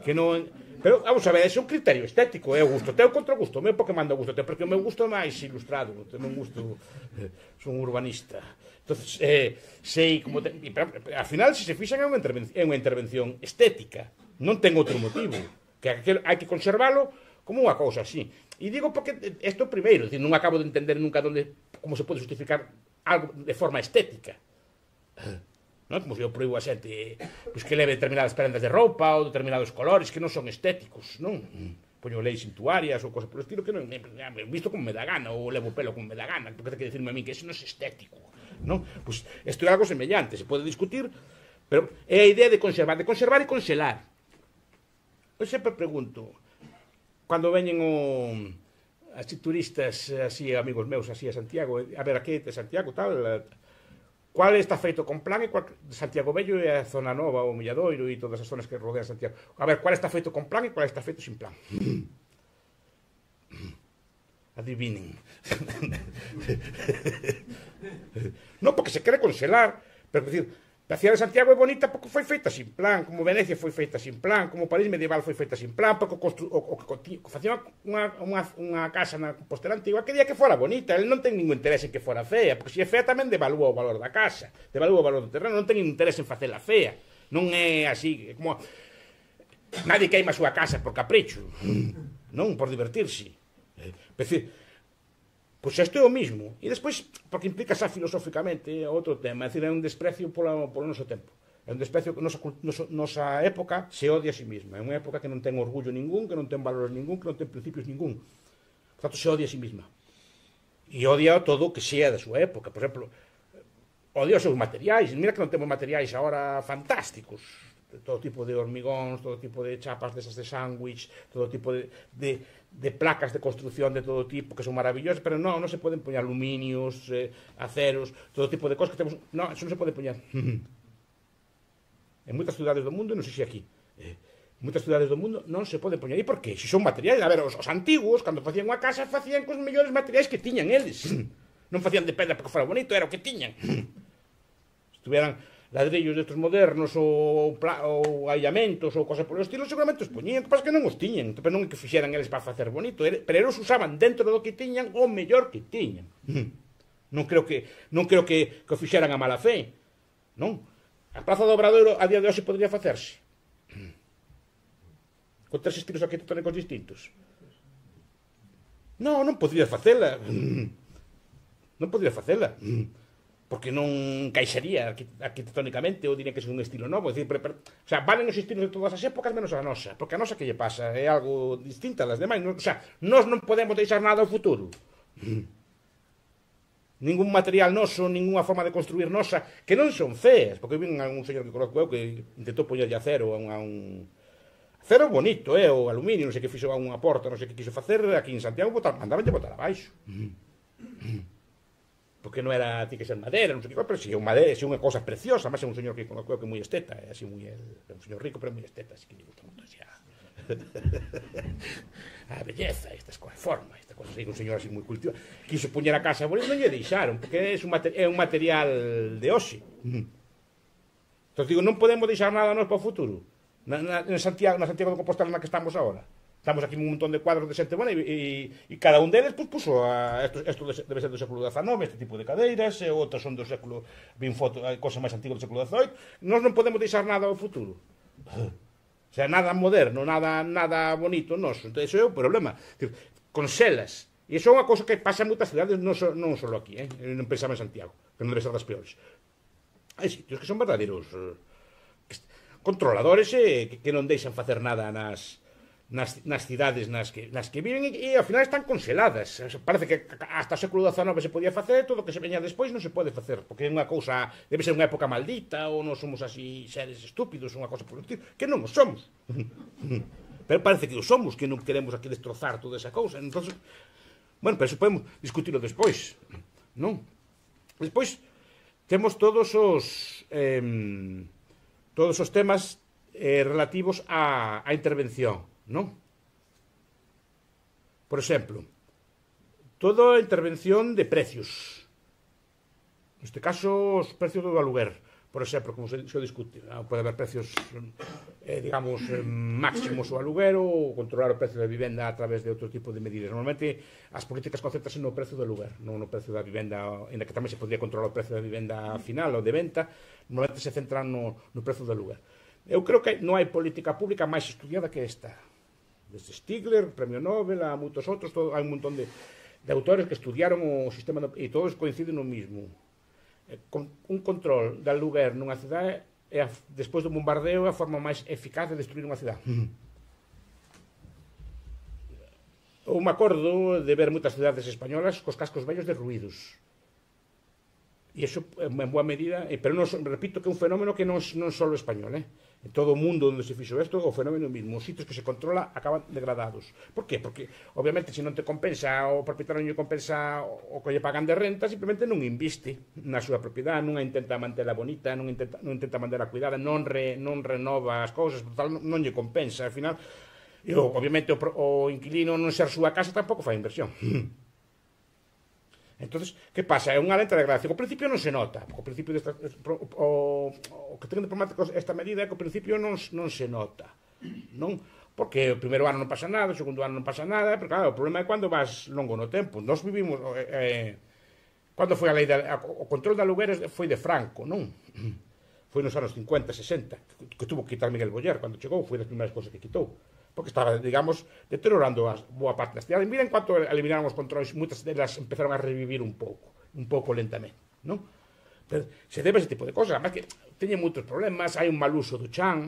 que non... Pero, vamos a ver, é un criterio estético, é o gusto teu contra o gusto meu, porque manda o gusto teu, porque o meu gusto é máis ilustrado, o meu gusto, eh, son un urbanista. Entonces, eh, sei como... Te, e, pero, ao final, se se fixan, é unha intervención, é unha intervención estética, non ten outro motivo, que hai que conservalo como unha cousa así. E digo porque isto primeiro, non acabo de entender nunca donde, como se pode justificar algo de forma estética. Non? Como se eu proíbo a xente pues, que leve determinadas prendas de roupa ou determinados colores que non son estéticos, non? Poño leis suntuarias ou cosas por estilo que non me visto como me dá gana, ou levo pelo como me dá gana, porque ten que dicirme a mí que eso non é estético, non? Pois pues, isto é algo semellante, se pode discutir, pero é a idea de conservar, de conservar e conxelar. Eu sempre pregunto, cando veñen o, así turistas, así amigos meus, así a Santiago, a ver, aquí de Santiago, tal, cual está feito con plan e cual, Santiago Bello e a zona nova, o Milladoiro e todas as zonas que rodean Santiago. A ver, cual está feito con plan e cual está feito sin plan. Adivinen. Non, porque se quere congelar, pero, decir, a cidade de Santiago é bonita porque foi feita sin plan, como Venecia foi feita sin plan, como París medieval foi feita sin plan, porque o que facía unha, unha, unha casa na Compostela antigua quería que fora bonita, ele non ten ningún interés en que fora fea, porque se é fea tamén devalúa o valor da casa, devalúa o valor do terreno, non ten interés en facela fea, non é así, como nadie queima a súa casa por capricho, non por divertirse. É dicir, Pois isto é o mismo. E despois, porque implica xa filosóficamente outro tema, é dicir, é un desprecio polo, polo noso tempo. É un desprecio que nosa, nosa, nosa época se odia a si mesma. É unha época que non ten orgullo ningún, que non ten valores ningún, que non ten principios ningún. Por tanto, se odia a si mesma. E odia todo o que sea da súa época. Por exemplo, odia os seus materiais. Mira que non temos materiais agora fantásticos. Todo tipo de hormigóns, todo tipo de chapas desas de sándwich, todo tipo de, de, de placas de construcción de todo tipo que son maravillosas, pero non, non se poden poñer aluminios, eh, aceros, todo tipo de cosas que temos. Non, eso non se pode poñer. En moitas cidades do mundo, non sei se aquí, eh, en moitas cidades do mundo non se pode poñer. E por qué? Se son materiais, a ver, os, os antigos, cando facían unha casa, facían cos mellores materiais que tiñan eles. Non facían de pedra porque fora bonito, era o que tiñan. Se tuveran ladrillos destos modernos ou, ou aillamentos ou cosas polo estilo, seguramente os poñían, que pasa que non os tiñan, pero non é que fixeran eles para facer bonito, pero eles usaban dentro do que tiñan o mellor que tiñan. Non creo que non creo que, que o fixeran a mala fe, non? A Praza do Obradoiro a día de hoxe podría facerse con tres estilos arquitectónicos distintos. Non, non podría facela. Non podría facela. Porque non caixaría arquitectónicamente ou diría que é un estilo novo. É dicir, pero, pero, o sea, valen os estilos de todas as épocas menos a nosa. Porque a nosa que lle pasa é algo distinta a las demais. O sea, nós non podemos deixar nada ao futuro. Ningún material noso, ninguna forma de construir nosa, que non son feas, porque vin a un señor que conozco eu que intentou poñerlle acero a un, a un acero bonito, eh, o aluminio, non sei que fixo a unha porta, non sei que quiso facer aquí en Santiago, botar, mandaban de botar abaixo. Porque non era, ti que ser madera, non sei que, pero si é un madera, si é unha cosa preciosa, máis é un señor que conozco eu que é moi esteta, é así moi, é un señor rico, pero moi esteta, así que lle gusta moito así a a belleza, estas cosas, forma, esta cosa, así, un señor así moi cultivado, quiso poñer a casa bonita, non lle deixaron, porque é un, é un material de hoxe. Entón digo, non podemos deixar nada nós para o futuro. Na, na, na, Santiago, na Santiago de Compostela na que estamos agora. Estamos aquí un montón de cuadros de xente buena e, e, e cada un deles pues, puso a, esto, esto debe ser do século dezanove, este tipo de cadeiras, e outros son do século, vin foto, cosas máis antigas do século dezoito. Nós non podemos deixar nada ao futuro. O sea, nada moderno, nada nada bonito noso. Entón, iso é o problema. Conselas. E iso é unha cousa que pasa en moitas cidades, non, so, non só aquí, eh? Non pensaba en Santiago, que non debe ser das peores. Hai sitios que son verdadeiros eh, controladores eh, que, que non deixan facer nada nas, nas, nas cidades nas que, nas que viven e, e ao final están conseladas. Parece que hasta o século dezanove se podía facer, todo o que se veña despois non se pode facer, porque é unha cousa, debe ser unha época maldita, ou non somos así seres estúpidos, unha cosa por estilo, que non os somos. Pero parece que os somos, que non queremos aquí destrozar toda esa cousa. Entonces, bueno, pero eso podemos discutirlo despois, non? Despois temos todos os eh, todos os temas eh, relativos á, á intervención, non? Por exemplo, toda a intervención de precios. Neste caso, os precios do aluguer, por exemplo, como se, se discute. Pode haber precios, eh, digamos, eh, máximos ao aluguer ou controlar o precio da vivenda a través de outro tipo de medidas. Normalmente, as políticas concentranse no precio do aluguer, non no precio da vivenda, en que tamén se podría controlar o precio da vivenda final ou de venta, normalmente se centran no, no precio do aluguer. Eu creo que non hai política pública máis estudiada que esta. Desde Stigler, Premio Nobel, a moitos outros, todo, hai un montón de, de autores que estudiaron o sistema do, e todos coinciden no mismo. Con, un control de aluguer nunha cidade é, a, despois do bombardeo, é a forma máis eficaz de destruir unha cidade. Eu me acordo de ver moitas cidades españolas cos cascos vellos derruídos. E iso, en boa medida, pero non, repito que é un fenómeno que non, non só español, eh? En todo o mundo onde se fixo isto, o fenómeno mismo. Os sitios que se controla acaban degradados. Por qué? Porque, obviamente, se non te compensa, o propietario non lle compensa o que lle pagan de renta, simplemente non inviste na súa propiedade, non a intenta mantela bonita, non intenta, non intenta mantela cuidada, non, re, non renova as cousas, por tal, non lle compensa. Al final, e, obviamente, o, o inquilino non ser súa casa tampouco fai inversión. Entonces, que pasa? É unha lenta degradación. Ao principio non se nota. O principio desta, o, o que ten de problemático esta medida é que ao principio non, non se nota. Non? Porque o primeiro ano non pasa nada, o segundo ano non pasa nada, pero claro, o problema é cando vas longo no tempo. Nós vivimos... Eh, cando foi a lei de, o control de alugueres foi de Franco, non? Foi nos anos cincuenta, sesenta, que, que tuvo que quitar Miguel Boyer cando chegou, foi das primeiras cosas que quitou. porque estaba, digamos, deteriorando as, boa parte das cidades. Miren cuanto eliminaron os controles, moitas delas empezaron a revivir un pouco, un pouco lentamente, non? Pero se debe a ese tipo de cosas, además que teñen moitos problemas, hai un mal uso do chan,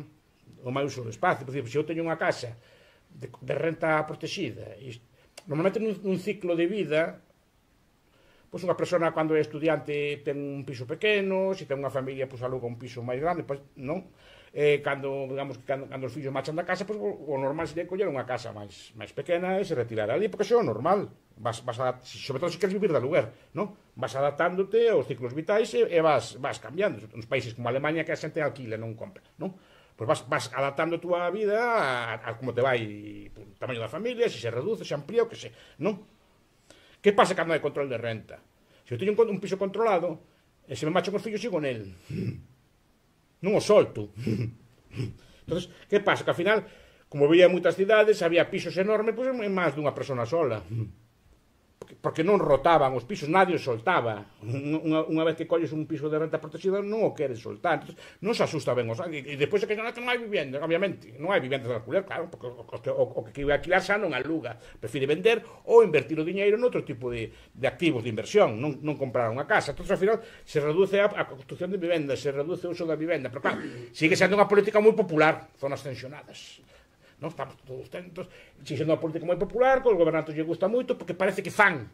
o mal uso do espacio. Por exemplo, se eu teño unha casa de, de renta protegida, e normalmente nun, nun ciclo de vida, pois unha persona cando é estudiante ten un piso pequeno, se ten unha familia pois aluga un piso máis grande, pois non. Eh, cando, digamos, cando, cando os fillos marchan da casa, pois o, o normal sería coller unha casa máis, máis pequena e se retirar ali, porque iso é o normal. Vas, vas a, sobre todo se queres vivir de aluguer, non? Vas adaptándote aos ciclos vitais e, e vas, vas cambiando. Nos países como Alemania que a xente alquila, non compra, non? Pois vas, vas adaptando a túa vida a, a como te vai o tamaño da familia, se se reduce, se amplía, o que se, non? Que pasa cando hai control de renta? Se eu teño un, un piso controlado, e se me machan os fillos, sigo nel. Non o solto. Entonces, que pasa? Que ao final, como veía moitas cidades, había pisos enormes, pois en máis dunha persona sola. Porque, porque non rotaban os pisos, nadie os soltaba. Unha, unha vez que colles un piso de renta protegida, non o queres soltar. Entonces, non se asusta ben os... E, e depois é que non, que non hai vivienda, obviamente. Non hai viviendas de alquiler, claro, porque o, o, o, o que vai alquilar xa non aluga. Prefire vender ou invertir o diñeiro noutro tipo de, de activos de inversión, non, non comprar unha casa. Entonces, ao final, se reduce a, a construcción de vivendas, se reduce o uso da vivenda. Pero, claro, sigue sendo unha política moi popular, zonas tensionadas. Non estamos todos tentos, si sendo unha política moi popular, que os gobernantes lle gusta moito, porque parece que fan,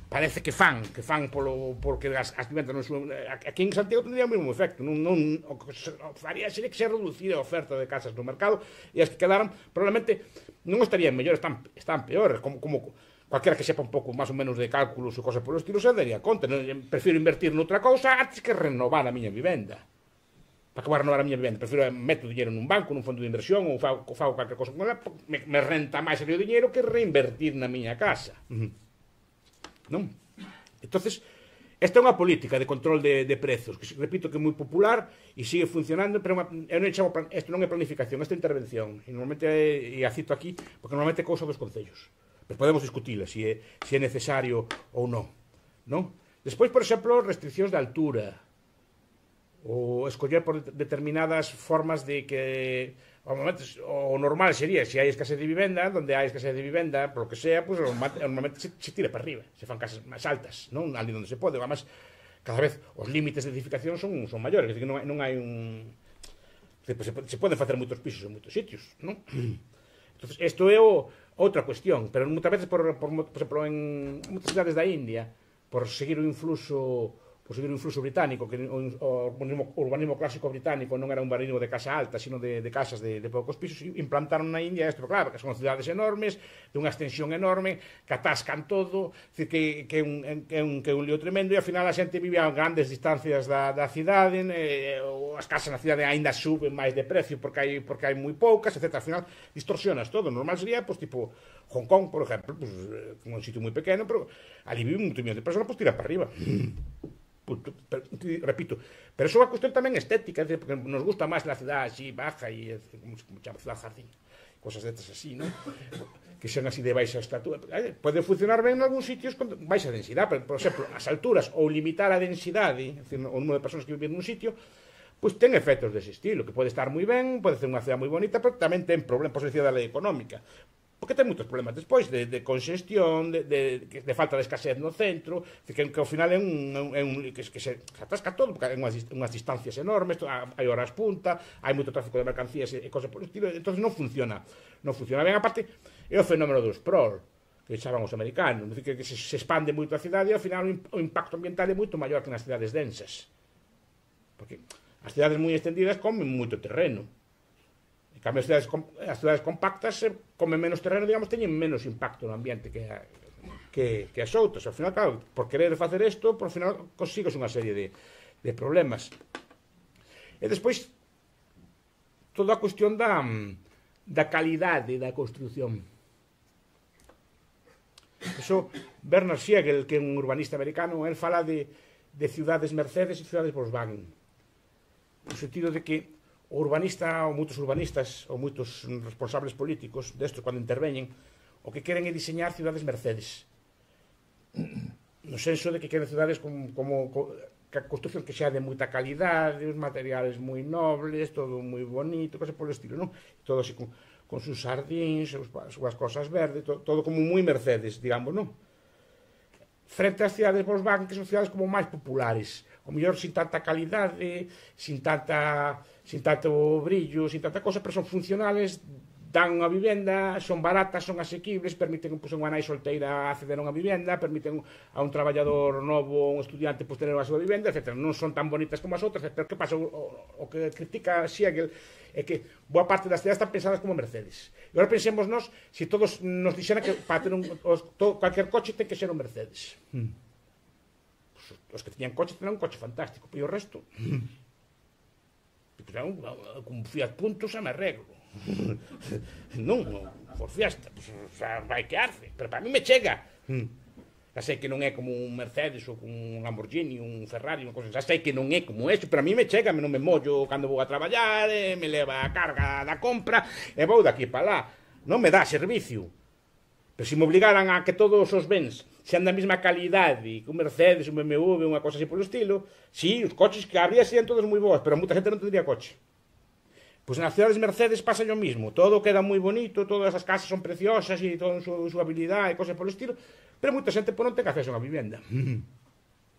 parece que fan, que fan polo, porque as, as vivendas non son, aquí en Santiago tendría o mesmo efecto, non, non, o que faría sería que se reducir a oferta de casas no mercado, e as que quedaran, probablemente, non estarían mellores, están, están peores, como, como cualquiera que sepa un pouco máis ou menos de cálculos ou cosas polo estilo, se daría conta, non, prefiro invertir noutra cousa antes que renovar a miña vivenda. Para que vou renovar a miña vivenda, prefiro meto dinheiro nun banco, nun fondo de inversión, ou fago, fago calquer cosa con ela, me, me renta máis o dinheiro que reinvertir na miña casa. Uh-huh. Non? Entonces, esta é unha política de control de, de prezos, que repito que é moi popular e sigue funcionando, pero eu non chamo, isto non é planificación, esta é intervención, e normalmente, e a cito aquí, porque normalmente é cousa dos concellos. Pero podemos discutila, se é, se é necesario ou non. Non? Despois, por exemplo, restriccións de altura, ou escoller por determinadas formas de que ao momento, o normal sería, se hai escasez de vivenda, donde hai escasez de vivenda, por lo que sea, pues, normalmente se, se tira para arriba, se fan casas máis altas, non? Ali onde se pode, además, cada vez os límites de edificación son, son maiores, que non, non hai un... Se, se poden facer moitos pisos en moitos sitios, non? Entonces, isto é o, outra cuestión, pero moitas veces, por, por, por exemplo, en moitas cidades da India, por seguir o influxo por seguir o influxo británico, que o, o urbanismo, o urbanismo clásico británico non era un urbanismo de casa alta, sino de, de casas de, de poucos pisos, implantaron na India isto, claro, que son cidades enormes, de unha extensión enorme, que atascan todo, que, que, un, que, un, que un lío tremendo, e ao final a xente vive a grandes distancias da, da cidade, eh, as casas na cidade aínda suben máis de precio porque hai, porque hai moi poucas, etcétera. Al final distorsionas todo. Normal sería, pues, tipo Hong Kong, por exemplo, pues, un sitio moi pequeno, pero ali vive un millón de personas, pues tira para arriba. Pero, repito, pero eso é unha cuestión tamén estética, é decir, porque nos gusta máis la ciudad así baja e como se chama, ciudad jardín, cosas destas así, non? Que sean así de baixa estatura. Pode funcionar ben en algúns sitios con baixa densidade, pero, por exemplo, as alturas ou limitar a densidade, é dicir, o número de persoas que viven nun sitio, pois ten efectos dese estilo, que pode estar moi ben, pode ser unha cidade moi bonita, pero tamén ten problemas, por decir, da lei económica. Porque ten moitos problemas despois de, de congestión, de, de, de falta de escasez no centro, que, que ao final é un, é un que, que se, se atasca todo, porque hai unhas, unhas distancias enormes, hai horas punta, hai moito tráfico de mercancías e, e cosas por estilo, entón non funciona, non funciona ben. Aparte, é o fenómeno do sprawl, que chaman os americanos, que, que se, se expande moito a cidade e ao final o impacto ambiental é moito maior que nas cidades densas, porque as cidades moi extendidas comen moito terreno. En cambio, as cidades, as cidades compactas comen menos terreno, digamos, teñen menos impacto no ambiente que, a, que, que as outras. Ao final, claro, por querer facer isto, por final consigues unha serie de, de problemas. E despois, toda a cuestión da, da calidade da construción. Eso, Bernard Siegel, que é un urbanista americano, él fala de, de ciudades Mercedes e ciudades Volkswagen. No sentido de que o urbanista, ou moitos urbanistas, ou moitos responsables políticos destos, cando interveñen, o que queren é diseñar cidades Mercedes. No senso de que queren cidades como, como, como que a construcción que xa de moita calidade, os materiales moi nobles, todo moi bonito, cosa polo estilo, non? Todo así con, con sus sardíns, as súas cosas verdes, to, todo como moi Mercedes, digamos, non? Frente ás cidades Volkswagen, que son cidades como máis populares, o mellor sin tanta calidade, sin tanta sin tanto brillo, sin tanta cosa, pero son funcionales, dan unha vivenda, son baratas, son asequibles, permiten pues, unha nai solteira acceder a unha vivenda, permiten a un traballador novo, un estudiante, pues, tener a súa vivenda, etcétera. Non son tan bonitas como as outras, pero que pasa? O, o, o que critica Siegel é que boa parte das cidades están pensadas como Mercedes. E agora pensemos nos, se si todos nos dixeran que para ter un, os, todo, cualquier coche ten que ser un Mercedes. Hmm. Pues, os que teñan coche teñan un coche fantástico, e o resto... Pues, un, con Fiat Punto xa me arreglo. Non, por fiesta, pues, xa vai que arce, pero para mí me chega. Xa sei que non é como un Mercedes ou un Lamborghini, un Ferrari, unha cosa, xa sei que non é como eso, pero a mí me chega, non me mollo cando vou a traballar, eh, me leva a carga da compra e vou daqui para lá. Non me dá servicio. Pero se me obligaran a que todos os bens sean da mesma calidade que un Mercedes, un B M W, unha cosa así polo estilo, si, os coches que habría serían todos moi bons, pero moita xente non tendría coche. Pois nas cidades Mercedes pasa o mismo, todo queda moi bonito, todas as casas son preciosas e toda a súa habilidade e cosas polo estilo, pero moita xente pues, non ten acceso a unha vivenda.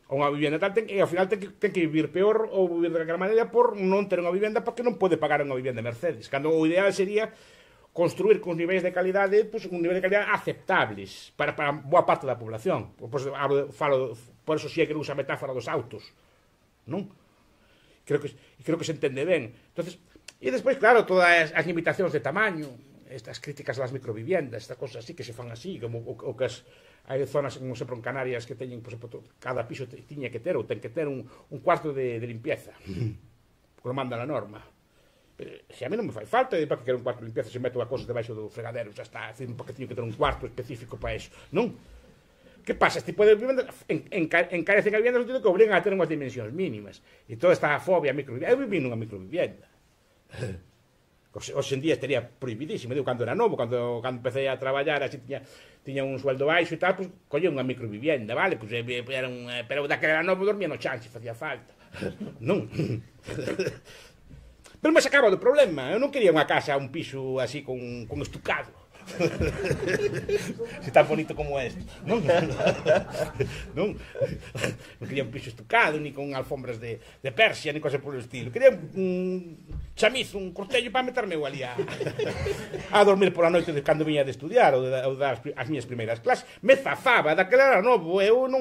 Ou unha vivenda tal, ten, e ao final ten que, ten que vivir peor ou vivir de calquera maneira por non ter unha vivenda porque non pode pagar unha vivenda Mercedes, cando o ideal sería construir con niveis de calidade, pues, un nivel de calidade aceptables para, para boa parte da población. Pues, hablo, falo, por eso si é que usa a metáfora dos autos, non? Creo que, creo que se entende ben. Entonces, e despois, claro, todas as limitacións de tamaño, estas críticas das microviviendas, estas cosas así que se fan así, como o, o que as, hai zonas, como sempre en Canarias, que teñen, por exemplo, cada piso tiña que ter, ou ten que ter un, un cuarto de, de limpieza, porque lo manda a norma. Pero, se a mí non me fai falta, e para que quero un cuarto de limpieza, se meto a cosas debaixo do fregadero, xa está, porque teño que ter un cuarto específico para eso, non? Que pasa? Este tipo de viviendas encarecen a vivienda no sentido que obrigan a ter unhas dimensións mínimas, e toda esta fobia a microvivienda. Eu viví nunha microvivienda. Hoxe en día estaría prohibidísimo. Digo, cando era novo, cando, cando empecé a traballar, así tiña, tiña un sueldo baixo e tal, pues, collía unha microvivienda, vale? Pues, era un, pero daquela era novo dormía no chan, se facía falta. Non. Pero me sacaba do problema. Eu non quería unha casa, un piso así con, con estucado. Se tan bonito como este, non? Non, non quería un piso estucado, ni con alfombras de, de Persia, ni cosa por el estilo. Quería un chamizo, un cortello para meterme ali a, a dormir por a noite de cando viña de estudiar ou de, ou de dar as miñas primeiras clases. Me zafaba, daquela era novo, eu non,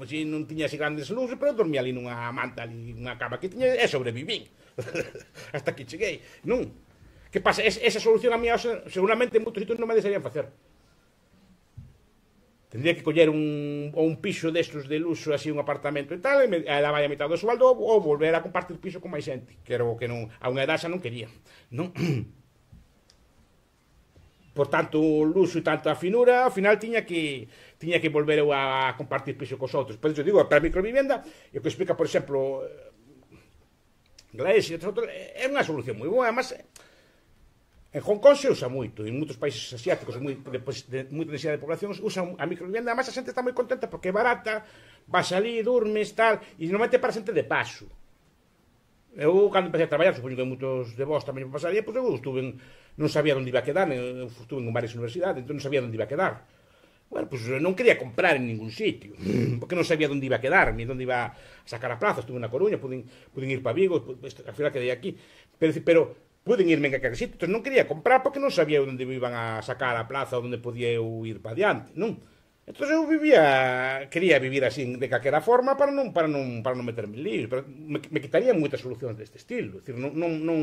si, non tiña así grandes luces, pero dormía ali nunha manta, ali nunha cama que tiña e sobrevivín. Hasta que cheguei, non? Que pasa? Es, esa solución a mí seguramente en moitos sitios non me desearían facer. Tendría que coller un, ou un piso destos de luxo, así un apartamento e tal, e me, ela vai a mitad do sueldo ou volver a compartir piso con máis xente, que era o que non, a unha edad xa non quería, non? Por tanto, o luxo e tanto a finura, ao final tiña que tiña que volver a compartir piso cos outros. Por iso digo, para a microvivienda, e o que explica, por exemplo, Glaes e outros, é unha solución moi boa, además. En Hong Kong se usa moito, e en moitos países asiáticos moi, de, de moita densidade de población usan a microvivienda, además a xente está moi contenta porque é barata, vas ali, durmes, tal, e normalmente para xente de paso. Eu, cando empecé a traballar, supoño que moitos de vós tamén me pasaría, pois eu estuve en, non sabía onde iba a quedar, eu estuve en varias universidades, entón non sabía onde iba a quedar. Bueno, pois non quería comprar en ningún sitio, porque non sabía onde iba a quedar, ni onde iba a sacar a plaza. Estuve na Coruña, puden, puden ir para Vigo, al final quedei aquí, pero, pero puden irme en aquel sitio, entón non quería comprar porque non sabía onde me iban a sacar a plaza ou onde podía eu ir para diante, non? Entón eu vivía, quería vivir así de calquera forma para non para non para non meterme en líos, pero me, me quitarían moitas solucións deste estilo, é dicir, non non non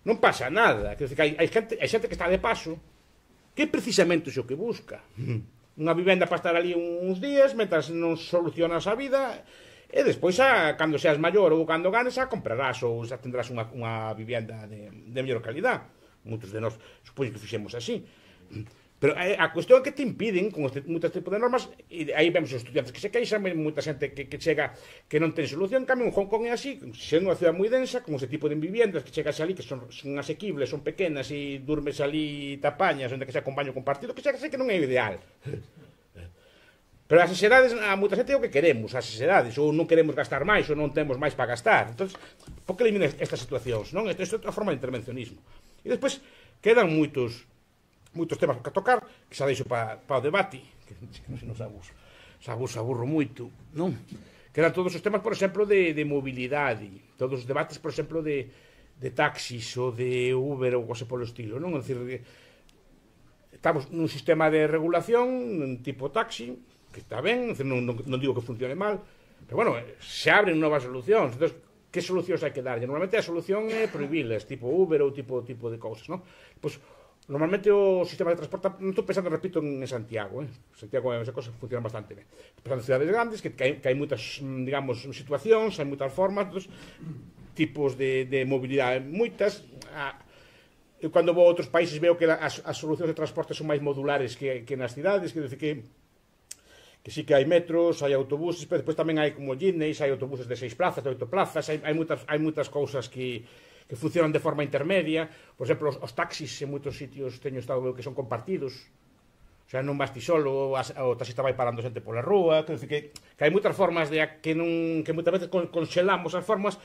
non pasa nada, quer dizer que hai, hai xente, hai xente que está de paso que é precisamente o que busca. Unha vivenda para estar ali uns días, mentras non solucionas a vida. E despois, a, cando seas maior ou cando ganes, a comprarás ou xa tendrás unha, unha vivienda de, de mellor calidad. Moitos de nós, supoño que fixemos así. Pero a, a cuestión é que te impiden, con este, moitas tipo de normas, e aí vemos os estudiantes que se queixan, moita xente que, que chega que non ten solución. En cambio, en Hong Kong é así, sendo unha ciudad moi densa, con ese tipo de viviendas que chegas ali, que son, son asequibles, son pequenas, e durmes ali tapañas, onde que sea con baño compartido, que chegas aí que non é ideal. Pero as sociedades, a moita xente é o que queremos, as sociedades, ou non queremos gastar máis, ou non temos máis para gastar. Entón, por que elimina estas situacións, non? Isto é outra forma de intervencionismo. E despois, quedan moitos moitos temas que tocar, que xa deixo para pa o debate, que non se nos abuso, se abuso, aburro moito, non? Que eran todos os temas, por exemplo, de, de mobilidade, todos os debates, por exemplo, de, de taxis ou de Uber ou cosa polo estilo, non? É dicir, estamos nun sistema de regulación tipo taxi, que está ben, non, non, non digo que funcione mal, pero bueno, se abren novas solucións. Entón, que solucións hai que darlle? Normalmente a solución é prohibilas, tipo Uber ou tipo tipo de cousas, non? Pois, normalmente o sistema de transporte, non estou pensando, repito, en Santiago, eh? Santiago esa cosa funciona bastante ben. Pensando en cidades grandes, que, que, hai, que hai moitas, digamos, situacións, hai moitas formas, dos tipos de, de mobilidade, moitas. Ah, eu cando vou a outros países veo que as, as solucións de transporte son máis modulares que, que nas cidades, que decir que que sí que hai metros, hai autobuses, pero depois tamén hai como jitneys, hai autobuses de seis plazas, de oito plazas, hai, hai, moitas, hai moitas cousas que que funcionan de forma intermedia. Por exemplo, os, os taxis en moitos sitios teño estado que son compartidos, o sea, non vas ti solo, o taxista vai parando xente pola rúa, que, que, que hai moitas formas de que non que moitas veces conxelamos as formas.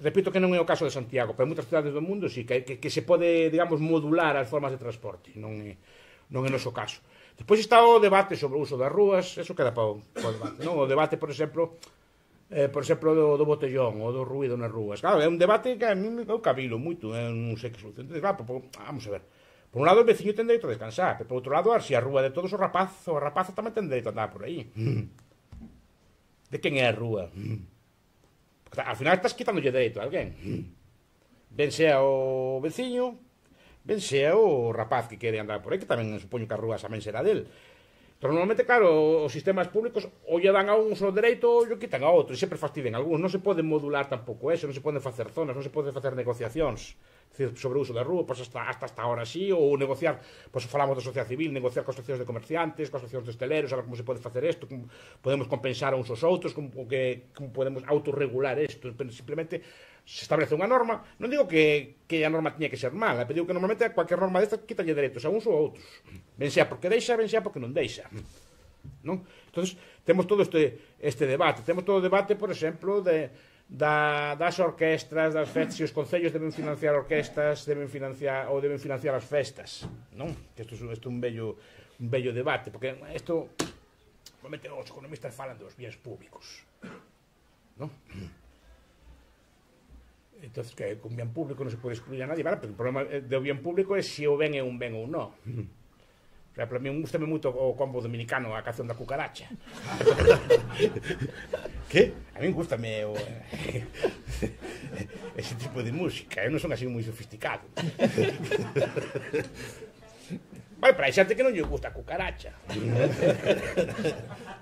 Repito que non é o caso de Santiago, pero en moitas cidades do mundo sí, que, que, que se pode, digamos, modular as formas de transporte, non é, non é o noso caso. Depois está o debate sobre o uso das rúas, eso queda para o, para o debate, non? O debate, por exemplo, Eh, por exemplo, do, do botellón ou do ruído nas rúas. Claro, é un debate que a mí me cabilo moito, eu non sei que solución. Claro, por, vamos a ver. Por un lado, o veciño ten dereito a descansar, pero por outro lado, se a rúa de todos os rapaz, o rapaza tamén ten dereito a andar por aí. De quen é a rúa? Porque, ao final estás quitándolle dereito a alguén. Ben sea o veciño, ben sea o rapaz que quere andar por aí, que tamén supoño que a rúa tamén será del. Pero normalmente, claro, os sistemas públicos ou lle dan a un o dereito ou lle quitan a outro, e sempre fastiden algúns. Non se pode modular tampouco eso, non se poden facer zonas, non se poden facer negociacións sobre o uso da rúa, pois hasta, hasta hasta ahora sí, ou negociar, pois falamos da sociedade civil, negociar coas asociacións de comerciantes, coas asociacións de hosteleros, a ver como se pode facer isto, como podemos compensar a uns aos outros, como, que, como podemos autorregular isto, simplemente se establece unha norma. Non digo que, que a norma tiña que ser mala, pero digo que normalmente cualquier norma desta quitalle dereitos a uns ou a outros, ben sea porque deixa, ben sea porque non deixa, non? Entonces, temos todo este, este debate, temos todo o debate, por exemplo, de, da, das orquestras, das festas, se os concellos deben financiar orquestas, deben financiar ou deben financiar as festas, non? Que isto, isto é un bello, un bello debate, porque isto, normalmente os economistas falan dos bienes públicos, non? Entonces, que con bien público non se pode excluir a nadie, vale? Pero o problema do bien público é se o ben é un ben ou non. O sea, para mí gustame moito o combo dominicano, a canción da cucaracha. Que? A mí gustame o ese tipo de música, eu non son así moi sofisticado. Vale, para hai xente que non lle gusta a cucaracha.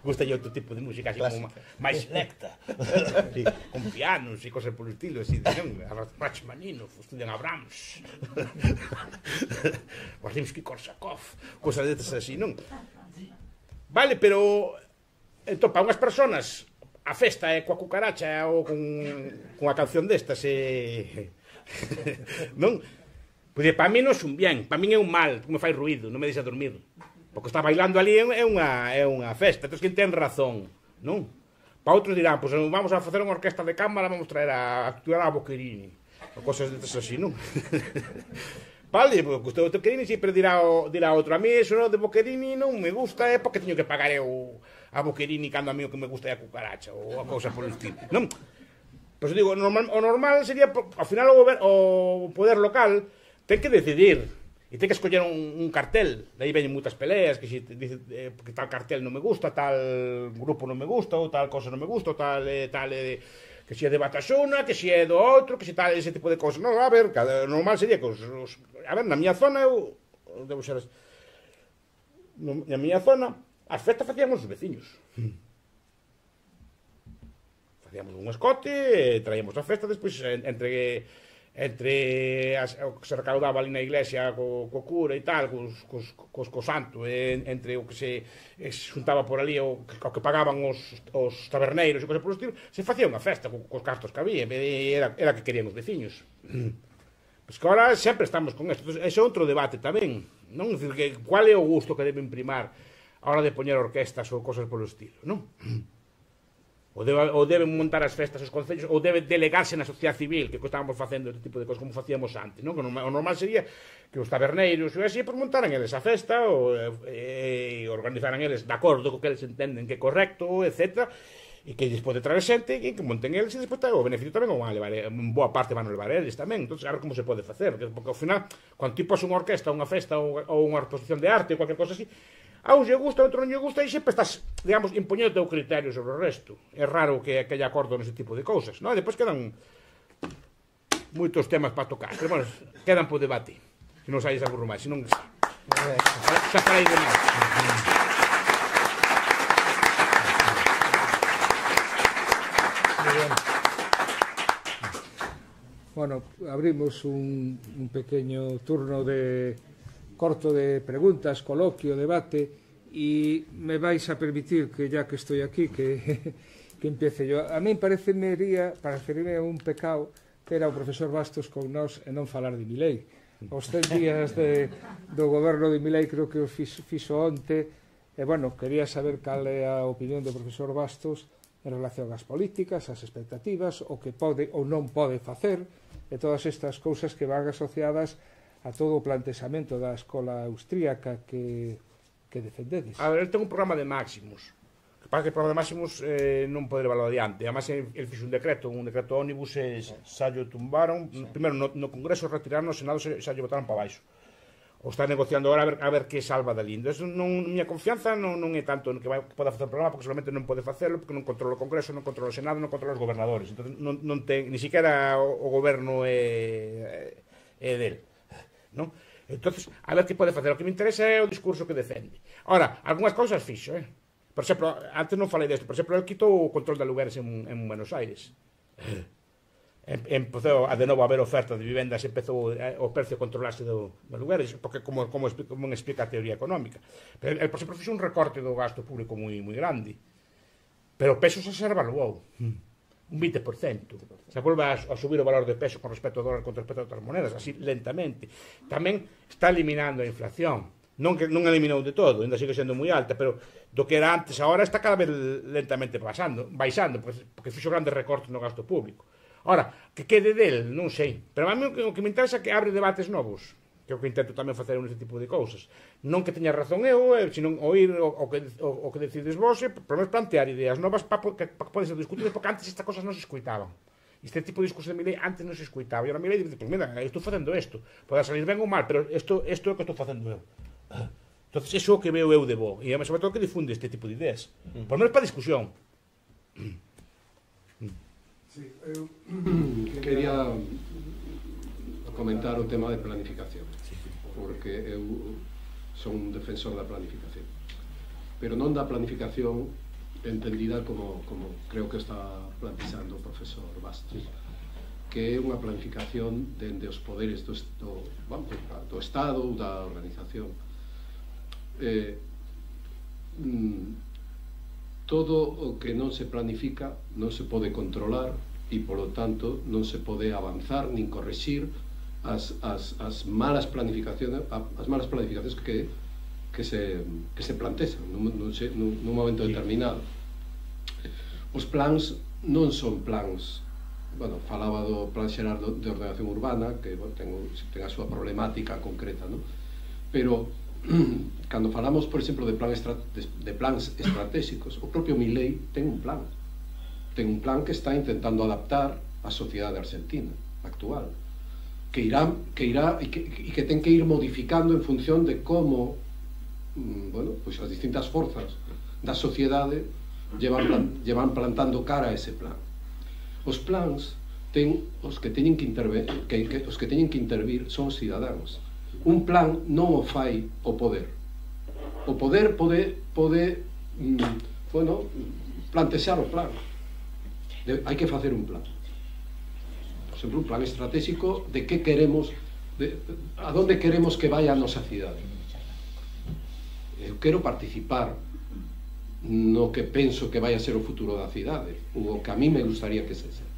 Gusta lle outro tipo de música así como máis selecta, sí, con pianos e cosas polo estilo, así, non? Rachmaninoff, estudian a Brahms, Rimsky-Korsakov, cosas destas así, non? Vale, pero entón, para unhas personas a festa é coa cucaracha ou con, con a canción destas e... non? Pois para mí non é un bien, para mí é un mal, me fai ruído, non me deixa dormir. Porque está bailando ali é unha, é unha festa, entón quen ten razón, non? Para outros dirán, pois vamos a facer unha orquesta de cámara, vamos traer a actuar a Boccherini, ou cosas destas así, non? Vale, porque o Boccherini sempre dirá, dirá outro, a mí eso de Boccherini non me gusta, é porque teño que pagar eu a Boccherini cando a mí o que me gusta é a cucaracha, ou a cousa polo estilo, non? Pois digo, normal, o normal sería, ao final o, gober, o poder local ten que decidir, e ten que escoller un, un cartel, de aí veñen moitas peleas, que si dice eh, que tal cartel non me gusta, tal grupo non me gusta, ou tal cosa non me gusta, ou tal, eh, tal eh, que si é de Batasuna, que si é do outro, que si tal, ese tipo de cosas. Non, a ver, cada, normal sería que os, os, a ver, na miña zona eu debo ser no, na miña zona as festas facíamos os veciños. Facíamos un escote, traíamos a festa, despois entre entre as, o que se recaudaba ali na iglesia co, co cura e tal, cos, cos, cos, co santo, e, entre o que se, se juntaba por ali o, o que pagaban os, os taberneiros e cosas por estilo, se facía unha festa co, cos cartos que había, e era, era que querían os veciños. Pois que agora sempre estamos con isto. Ese é outro debate tamén, non? Dicir, que cual é o gusto que debe imprimar a hora de poñer orquestas ou cosas polo estilo, non? ou, debe, ou deben montar as festas os concellos, ou debe delegarse na sociedade civil, que estábamos facendo este tipo de cosas como facíamos antes, non? Que o normal sería que os taberneiros e así, pues, montaran eles a festa ou, e, e organizaran eles de acordo co que eles entenden que é correcto, etcétera, e que eles pode traer xente e que monten eles, e despois o beneficio tamén o van a levar, en boa parte van a levar eles tamén. Entón, a ver como se pode facer, porque ao final, cando ti pos unha orquesta, unha festa ou, ou unha exposición de arte ou cualquier cosa así, a un lle gusta, a outro non lle gusta, e sempre estás, digamos, impoñendo o teu criterio sobre o resto. É raro que, que haya acordo nese tipo de cousas, non? E depois quedan moitos temas para tocar, pero, bueno, quedan por debate, se non saís algo máis, se non xa farei de máis. Bueno, abrimos un, un pequeño turno de corto de preguntas, coloquio, debate, y me vais a permitir que ya que estoy aquí que, que empiece yo. A mí parecería, parecería un pecado ter ao profesor Bastos con nós e non falar de Milei. Os tres días de, do goberno de Milei creo que o fixo, fixo onte, e bueno, quería saber cal é a opinión do profesor Bastos en relación ás políticas, ás expectativas, o que pode ou non pode facer, e todas estas cousas que van asociadas a todo o planteamento da escola austríaca que, que defendedes. A ver, el ten un programa de máximos. Que pasa que o programa de máximos eh, non pode levarlo adiante. Además, el, el fixo un decreto, un decreto ónibus, e xa lle tumbaron. Sí. Primeiro, no, no Congreso retiraron, no Senado xa lle botaron para baixo. O está negociando agora a ver, a ver que salva dali. Entón, non, miña confianza non, non é tanto que, vai, que poda facer o programa, porque solamente non pode facelo, porque non controla o Congreso, non controla o Senado, non controla os gobernadores. Entón, non, non ten, ni siquiera o, o goberno é, é del. Non? Entonces, a ver que pode facer. O que me interesa é o discurso que defende. Ora, algunhas cousas fixo, eh? Por exemplo, antes non falei desto, por exemplo, el quitou o control de alugueres en, en Buenos Aires. Empezou a de novo a haber oferta de vivendas, empezou o precio a controlarse do, do alugueres, porque como, como, explica, como explica a teoría económica. Pero el, por exemplo, fixo un recorte do gasto público moi, moi grande. Pero o peso xa se revaluou. Un vinte por cento. Se volve a, a subir o valor de peso con respecto ao dólar con respecto a outras monedas, así lentamente. Tamén está eliminando a inflación. Non que non eliminou de todo, ainda sigue sendo moi alta, pero do que era antes agora está cada vez lentamente pasando, baixando, porque, porque fixo grandes recortes no gasto público. Ora, que quede del, non sei. Pero a mí o que, o que me interesa é que abre debates novos, que é o que intento tamén facer neste tipo de cousas. Non que teña razón eu, sino oír o, o, que, o, o que decides vos, e por menos plantear ideas novas para pa, que poden ser discutidas, porque antes estas cosas non se escuitaban. Este tipo de discurso de Milei antes non se escuitaba, e ahora Milei dice, pues mira, estou facendo isto, pode salir ben ou mal, pero isto, isto é o que estou facendo eu. Entonces, iso é o que veo eu de bo, e sobre todo que difunde este tipo de ideas, por menos para discusión. Sí, eu quería comentar o tema de planificación, porque eu son un defensor da planificación, pero non da planificación entendida como, como creo que está plantexando o profesor Bastos, que é unha planificación dende os poderes do, do, bueno, do Estado ou da organización. Eh, mm, todo o que non se planifica non se pode controlar e, polo tanto, non se pode avanzar nin correxir as, as, as malas planificacións as malas planificacións que, que, se, que se plantexan nun, nun, nun momento determinado. Os plans non son plans, bueno, falaba do plan xeral de ordenación urbana, que bueno, ten, ten a súa problemática concreta, non? Pero cando falamos, por exemplo, de, plan estra de, de plans estratégicos, o propio Milei ten un plan. Ten un plan que está intentando adaptar a sociedade argentina actual, que irá, que irá e que, e que ten que ir modificando en función de como, bueno, pois as distintas forzas da sociedade llevan, plan, llevan plantando cara a ese plan. Os plans ten os que teñen que intervir, que, que os que teñen que intervir son os cidadáns. Un plan non o fai o poder. O poder pode, pode mm, bueno, plantexar o plan. De, hai que facer un plan. Por exemplo, un plan estratégico de que queremos, de, a donde queremos que vaya a nosa cidade. Eu quero participar no que penso que vai a ser o futuro da cidade, ou o que a mí me gustaría que se sea.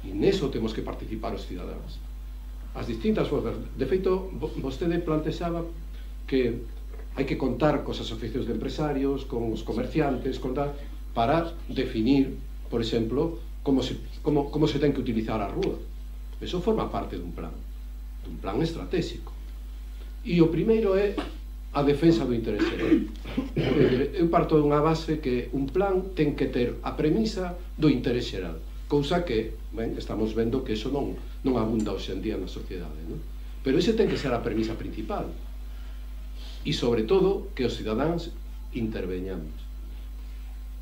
E neso temos que participar os cidadáns. As distintas forzas. De feito, vostede plantexaba que hai que contar cos asociacións de empresarios, con os comerciantes, contar... para definir, por exemplo, como se, como, como se ten que utilizar a rúa. Eso forma parte dun plan, dun plan estratégico. E o primeiro é a defensa do interés xeral. Eu parto dunha base que un plan ten que ter a premisa do interés xeral, cousa que, ben, estamos vendo que eso non, non abunda hoxe en día na sociedade, non? Pero ese ten que ser a premisa principal. E, sobre todo, que os cidadáns interveñamos.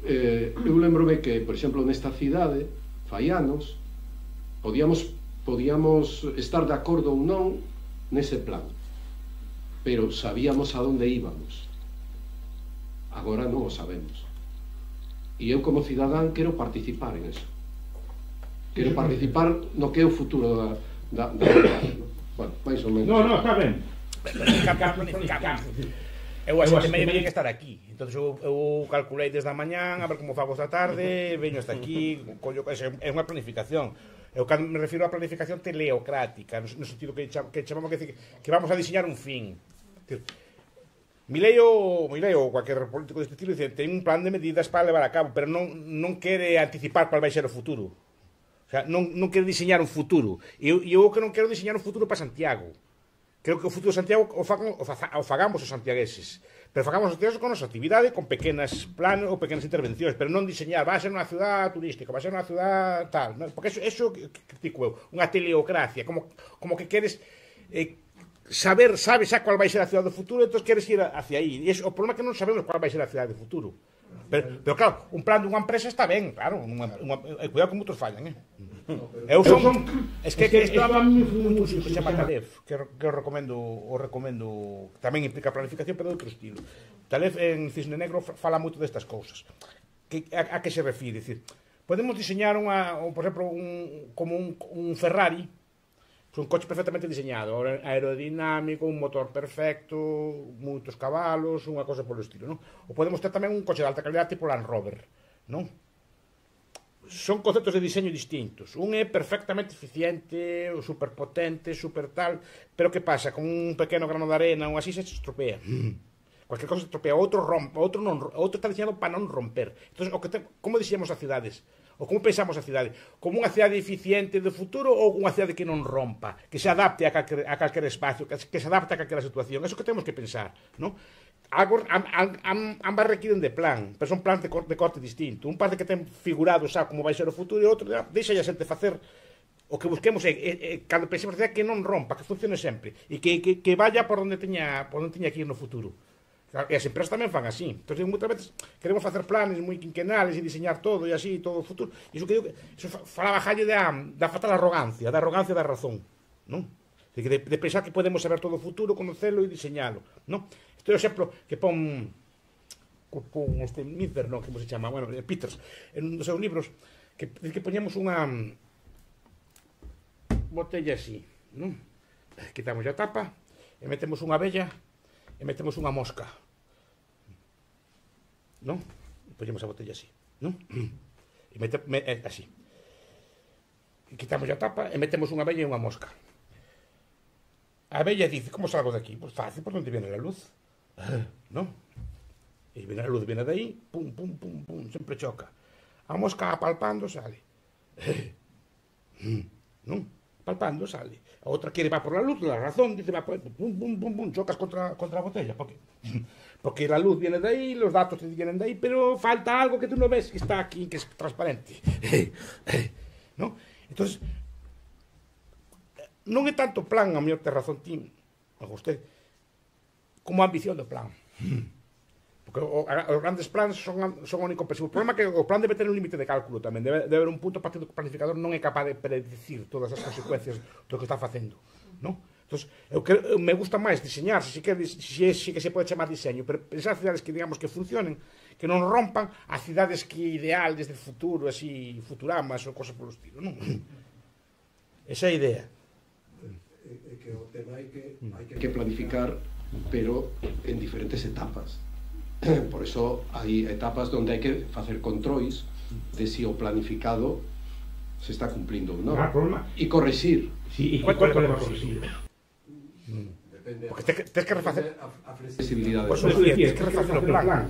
Eh, eu lembrome que, por exemplo, nesta cidade, fai anos, podíamos, podíamos estar de acordo ou non nese plan, pero sabíamos a onde íbamos. Agora non o sabemos. E eu, como cidadán, quero participar en eso. Quero participar no que é o futuro da, da, da cidade. Bueno, máis ou menos. No, no, está ben. Eu a xente medio teño que estar aquí. Entón eu, eu calculei desde a mañán a ver como fago esta tarde, veño hasta aquí, collo, é unha planificación. Eu cando me refiro á planificación teleocrática, no sentido que, que chamamos que, que vamos a diseñar un fin. Milei ou Milei ou cualquier político deste estilo dice, ten un plan de medidas para levar a cabo, pero non, non quere anticipar cual vai ser o futuro. O sea, non, non quere diseñar un futuro. E eu, eu que non quero diseñar un futuro para Santiago. Creo que o futuro de Santiago o, fagan, o, fa, o fagamos os santiagueses, pero fagamos os santiagueses con nosa actividade, con pequenas planos ou pequenas intervencións, pero non diseñar, vai ser unha ciudad turística, vai ser unha ciudad tal, non? Porque eso, eso critico eu, unha teleocracia, como, como que queres eh, saber, sabes a cual vai ser a ciudad do futuro, entón queres ir hacia aí, e eso, o problema é que non sabemos cual vai ser a ciudad do futuro. Pero, pero claro, un plan dunha empresa está ben, claro, unha, unha, cuidado que moitos fallan, eh? Eu son, es que, que estaba un que se chama Talef, que, que o recomendo, o recomendo, tamén implica planificación, pero de outro estilo. Talef en Cisne Negro fala moito destas cousas. Que, a, a que se refire? Dicir, podemos diseñar unha, por exemplo, un, como un, un Ferrari, un coche perfectamente diseñado, aerodinámico, un motor perfecto, moitos cabalos, unha cosa polo estilo, non? Ou podemos ter tamén un coche de alta calidad tipo Land Rover, non? Son conceptos de diseño distintos. Un é perfectamente eficiente, superpotente, super tal, pero que pasa? Con un pequeno grano de arena ou así se estropea. Cualquier cosa se estropea, outro rompe, outro non, outro está diseñado para non romper. Entonces, o que te, como diseñamos as cidades? Ou como pensamos a cidade? Como unha cidade eficiente do futuro ou unha cidade que non rompa, que se adapte a calquer, a calquer espacio, que, que se adapte a calquera situación? Eso que temos que pensar, non? Algo, am, am, ambas requiren de plan, pero son plans de corte, de corte distinto. Un parte que ten figurado xa como vai ser o futuro e outro deixa a xente facer o que busquemos é, é, é cando pensemos que non rompa, que funcione sempre e que, que, que vaya por onde teña por onde teña que ir no futuro. E as empresas tamén fan así. Entón, moitas veces queremos facer planes moi quinquenales e diseñar todo e así, todo o futuro. E iso que digo, iso falaba Jalle da, da fatal arrogancia, da arrogancia da razón, non? De, de pensar que podemos saber todo o futuro, conocelo e diseñalo, non? Este é o exemplo que pon con este Mither, non, como se chama, bueno, Peters, en un dos seus libros, que, que poñemos unha botella así, non? Quitamos a tapa e metemos unha abella e metemos unha mosca, non? E poñemos a botella así, non? E metemos así. E quitamos a tapa e metemos unha abella e unha mosca. A abella dice, como salgo de aquí? Pois pues fácil, por onde viene a luz. Non? E viene a luz, viene de aí, pum, pum, pum, pum, sempre choca. A mosca apalpando sale. Non? Apalpando sale. A outra quere va por la luz, la razón, dice va por pum, pum, pum, pum, chocas contra, contra a botella. ¿Por qué? Porque la luz viene de aí, los datos vienen de aí, pero falta algo que tú no ves, que está aquí, que es transparente. Non? Entonces, non é tanto plan, a mellor ter razón ti, a usted, como a ambición do plan. Porque o, a, os grandes plans son, son omnicompensivos. O problema é que o plan debe ter un límite de cálculo tamén. Debe, debe haber un punto a partir do que o planificador non é capaz de predecir todas as consecuencias do que está facendo, non? Entón, eu, eu me gusta máis diseñar, se, que, se, se que se pode chamar diseño, pero pensar cidades que, digamos, que funcionen, que non rompan a cidades que ideal desde o futuro, así, futuramas ou cosas polo estilo, non? Esa é a idea. É que o tema hai que, hai que planificar, pero en diferentes etapas. Por eso hai etapas onde hai que facer controis de si o planificado se está cumplindo ou non. E correxir. Sí, e cuánto podemos correxir? Porque tens que refacer a flexibilidade. Por eso decía, tens que refacer o plan.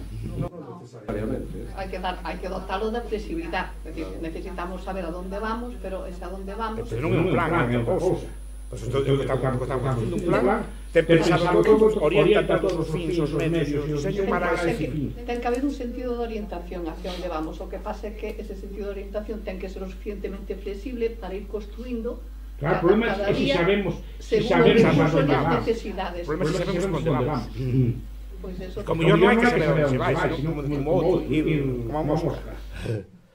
Hai que, dar, hai que dotalo de flexibilidade. É dicir, necesitamos saber a donde vamos, pero ese a donde vamos... Pero non é un plan, é outra cousa. Pois isto é o que estamos facendo, un plan, ten pensado todo, orienta todos os fins, os medios, os diseños para ese fin. Ten que haber un sentido de orientación hacia onde vamos. O que pasa é que ese sentido de orientación ten que ser o suficientemente flexible para ir construindo. Claro, o problema é que se sabemos se sabemos a dónde vamos. O problema é que sabemos onde vamos. Pois eso. Como yo non hai que saber onde se vai, senón como outro, como a mosca.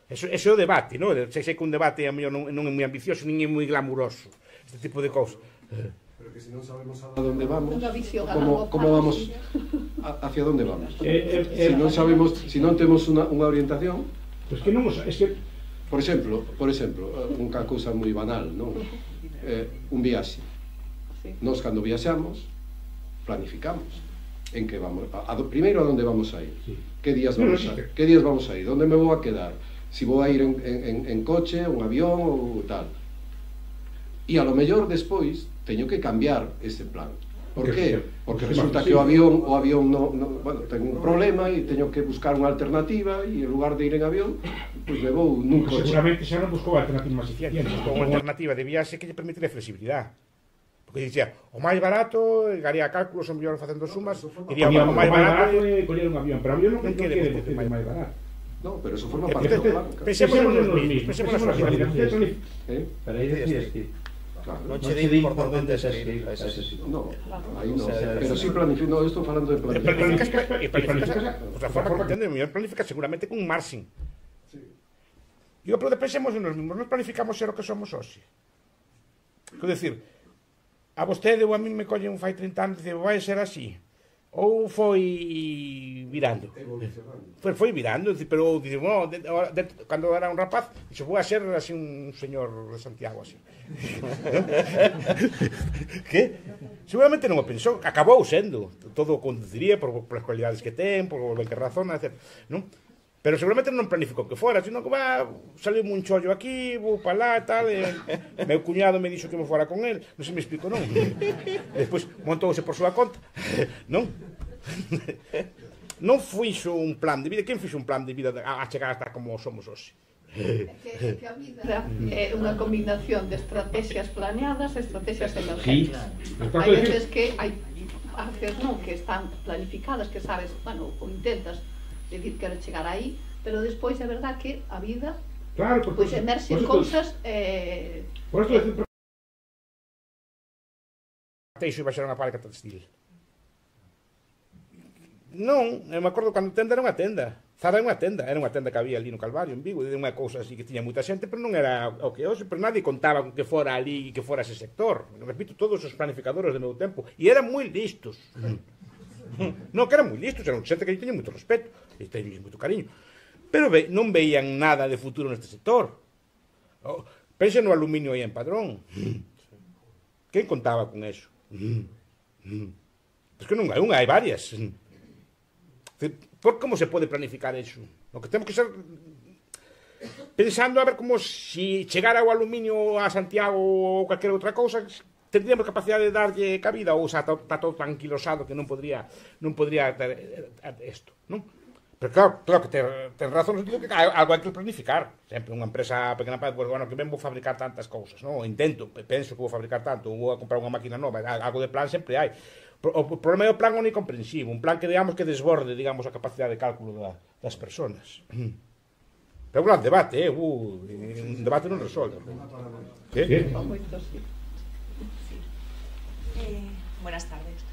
Eso é o debate, non? Sei que un debate non é moi ambicioso, nin é moi glamuroso, este tipo de cousas. Pero que se non sabemos a onde vamos, como, como vamos, hacia onde vamos? Se non sabemos, se non temos unha orientación... Pois que non, es que... Por exemplo, por exemplo, unha cousa moi banal, non? Eh, un viaxe. Nós, cando viaxamos, planificamos en que vamos, a, a, primeiro a onde vamos a ir, que días vamos a ir, que días vamos a ir, onde me vou a quedar, si vou a ir en, en, en coche, un avión ou tal. E a lo mellor despois teño que cambiar ese plan. Por que? Porque resulta que o avión, o avión no, no, bueno, ten un problema e teño que buscar unha alternativa e en lugar de ir en avión, pois me vou nun coche. Seguramente xa non buscou alternativa máis eficiente. Buscou unha alternativa de viaxe que lle permitire flexibilidade. Porque dicía, o máis barato, garía cálculos, o mellor facendo sumas, iría o máis barato e coller un avión, pero o avión non quere decir máis barato. No, pero eso forma parte do plan. Pensemos nos mismos, pensemos nas planificacións. Pero aí decías que non che di por onde seguir a ese sitio. No, aí non, pero si planifico, no, estou falando de planificación. E planificas, a forma que entende, mellor planifica seguramente con un marxen. Digo, pero pensemos nos mismos, non planificamos ser o que somos hoxe. Quero dicir, a vostede ou a mí me colle un fai trinta anos e dice, vai ser así. Ou foi virando. Foi, foi virando, pero dice, bueno, de, de, cando era un rapaz, dixo, vou a ser así un señor de Santiago, así. Que? Seguramente non o pensou, acabou sendo. Todo o conduciría por, por as cualidades que ten, por o que razona, etcétera. Non? Pero seguramente non planificou que fora, sino que va, saliu un chollo aquí, vou para lá e tal, e meu cuñado me dixo que me fora con el, non se me explico, non? E despois montouse por súa conta, non? Non fixo un plan de vida, quen fixo un plan de vida a chegar hasta como somos hoxe? É que, que a vida é unha combinación de estrategias planeadas e estrategias emergentes. Hai veces que hai veces non que están planificadas, que sabes, bueno, ou intentas decir quero chegar aí, pero despois é verdad que a vida claro, pois pues, emerxen cousas eh, por isto decir Teixo iba a ser unha fábrica textil. Non, eu me acordo cando tenda era unha tenda. Zara era unha tenda, era unha tenda que había ali no Calvario, en Vigo, e unha cousa así que tiña moita xente, pero non era o que hoxe, pero nadie contaba con que fora ali e que fora ese sector. Repito, todos os planificadores do meu tempo, e eran moi listos. Non, que eran moi listos, eran xente que teña moito respeto e teña moito cariño, pero ve, non veían nada de futuro neste sector. Oh, pense no aluminio aí en Padrón. Quen contaba con eso? Pois que non hai unha, hai varias. Por como se pode planificar eso? O que temos que ser pensando a ver como si chegara o aluminio a Santiago ou calquera outra cousa, tendríamos capacidade de darlle cabida ou xa está todo tranquilosado que non podría non podría ter isto, non? Pero claro, claro que ten, ten razón no sentido que algo hai que planificar. Sempre unha empresa pequena, pues, bueno, que ben vou fabricar tantas cousas, non? Intento, penso que vou fabricar tanto, ou vou a comprar unha máquina nova, algo de plan sempre hai. O problema é o plan omnicomprensivo, un plan que, digamos, que desborde, digamos, a capacidade de cálculo da, das personas. Pero un gran debate, eh? Uh, un debate non resolve. ¿Qué? ¿Qué? Eh, buenas tardes.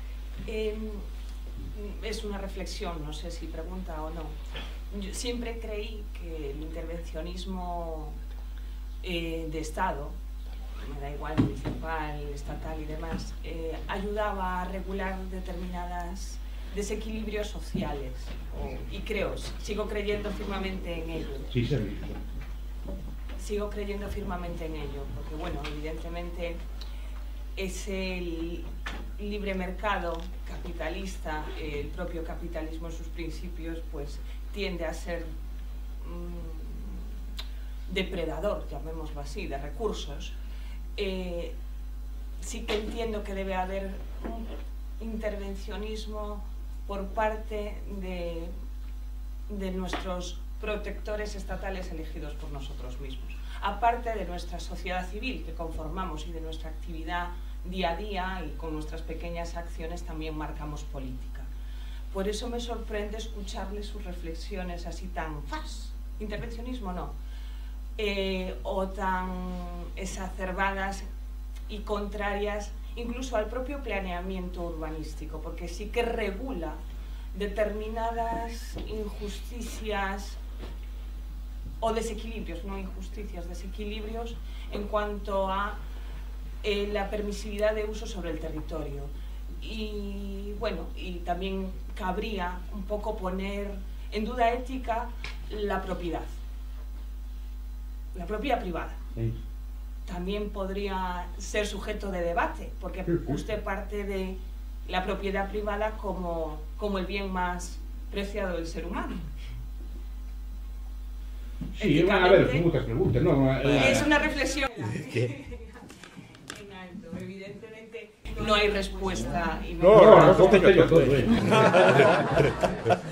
Eh, es una reflexión, no sé si pregunta o no. Yo siempre creí que el intervencionismo eh, de Estado, me da igual municipal, estatal y demás, eh, ayudaba a regular determinadas desequilibrios sociales. Y creo, sigo creyendo firmemente en ello. Sí, sí. Sigo creyendo firmemente en ello, porque bueno, evidentemente ese libre mercado capitalista, el propio capitalismo en sus principios, pues tiende a ser mmm, depredador, llamémoslo así, de recursos. Eh, sí que entiendo que debe haber un intervencionismo por parte de de nuestros protectores estatales elegidos por nosotros mismos, aparte de nuestra sociedad civil que conformamos y de nuestra actividad día a día, y con nuestras pequeñas acciones también marcamos política. Por eso me sorprende escucharle sus reflexiones así tan ¡fas! Intervencionismo no, eh, o tan exacerbadas y contrarias incluso al propio planeamiento urbanístico, porque sí que regula determinadas injusticias o desequilibrios, no injusticias, desequilibrios en cuanto a eh, la permisividad de uso sobre el territorio. Y bueno, y también cabría un poco poner en duda ética la propiedad, la propiedad privada. Sí. También podría ser sujeto de debate, porque usted parte de la propiedad privada como, como el bien más preciado del ser humano. Sí, a ver, son muchas preguntas, ¿no? Es una reflexión. Evidentemente no hay respuesta. Y no, no, no, no, todo.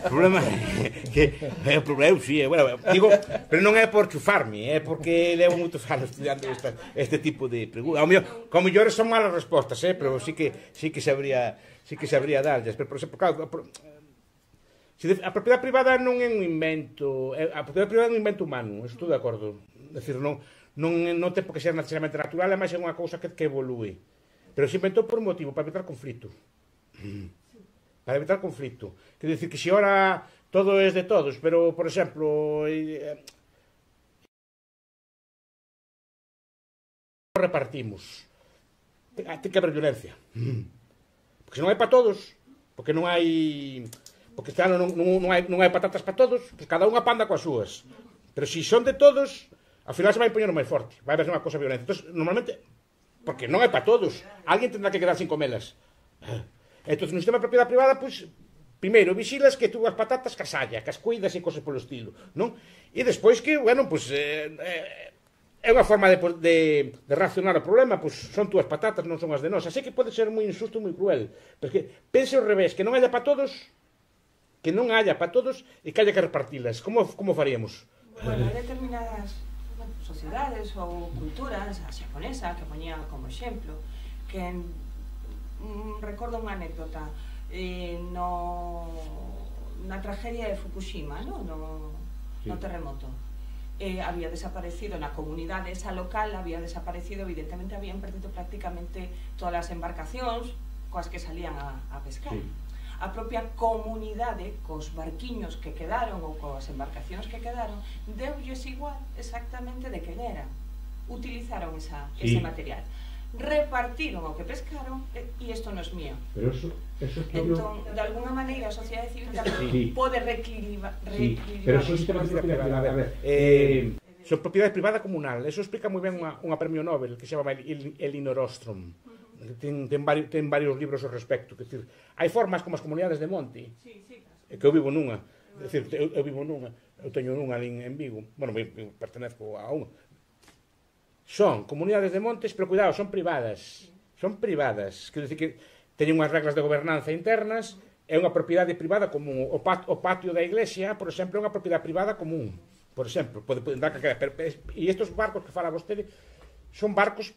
O problema é que o problema é, sí, bueno, digo, pero non é por chufarme, é porque levo moitos anos estudiando esta, este tipo de preguntas. Ao mellor, como mellores son malas respostas, eh, pero sí que sí que sabría, sí que sabría darlles, pero por exemplo, claro, a propiedade privada non é un invento, a propiedade privada é un invento humano, estou de acordo. É dicir, non non non ten por que ser necesariamente natural, é máis é unha cousa que que evolúe. Pero se inventou por un motivo, para evitar conflito. Para evitar conflito. Quer dicir que se ora todo é de todos, pero, por exemplo, eh, repartimos. Ten que haber violencia. Porque se non hai para todos, porque non hai... Porque claro, non, non, non, hai, non hai patatas para todos, pues cada unha panda coas súas. Pero se son de todos, ao final se vai poñer máis forte. Vai haber unha cosa violenta. Entón, normalmente... Porque non é para todos. Alguén tendrá que quedar sin comelas. Entón, no sistema de propiedade privada, pois, primeiro, vixilas que tú as patatas casalla, que as cuidas e cosas polo estilo, non? E despois que, bueno, pois, eh, eh, é unha forma de, de, de reaccionar ao problema, pois, son túas patatas, non son as de nós. Así que pode ser moi injusto e moi cruel. Porque pense ao revés, que non haya para todos, que non haya para todos e que haya que repartilas. Como, como faríamos? Bueno, hai determinadas sociedades ou culturas, a xaponesa, que poñía como exemplo, que mm, recordo unha anécdota eh, no, na tragedia de Fukushima, no, no, sí. no terremoto. Eh, había desaparecido na comunidade esa local, había desaparecido, evidentemente habían perdido prácticamente todas as embarcacións coas que salían a, a pescar. Sí. A propia comunidade, cos barquiños que quedaron ou coas embarcacións que quedaron, deulles igual exactamente de que era. Utilizaron esa, sí. ese material. Repartiron o que pescaron e isto non é mío. Pero eso, eso es entón, de alguna maneira, a sociedade civil tamén sí. pode reequilibrar. Sí. Pero eso é sistema de propiedade privada. A ver, eh, son propiedade privada comunal. Eso explica moi ben unha, unha premio Nobel que se chama Elinor Ostrom. Ten, ten, varios, ten varios libros ao respecto. Que, decir, hai formas como as comunidades de monte, sí, sí, que eu vivo nunha, decir, eu, eu vivo nunha, eu teño nunha ali en Vigo, bueno, eu pertenezco a unha. Son comunidades de montes, pero cuidado, son privadas, son privadas, quer decir que teñen unhas reglas de gobernanza internas, é unha propiedade privada común. O, pat, o patio da iglesia, por exemplo, é unha propiedade privada común, por exemplo, pode, pode dar que quedar, pero, e estes barcos que fala vostede son barcos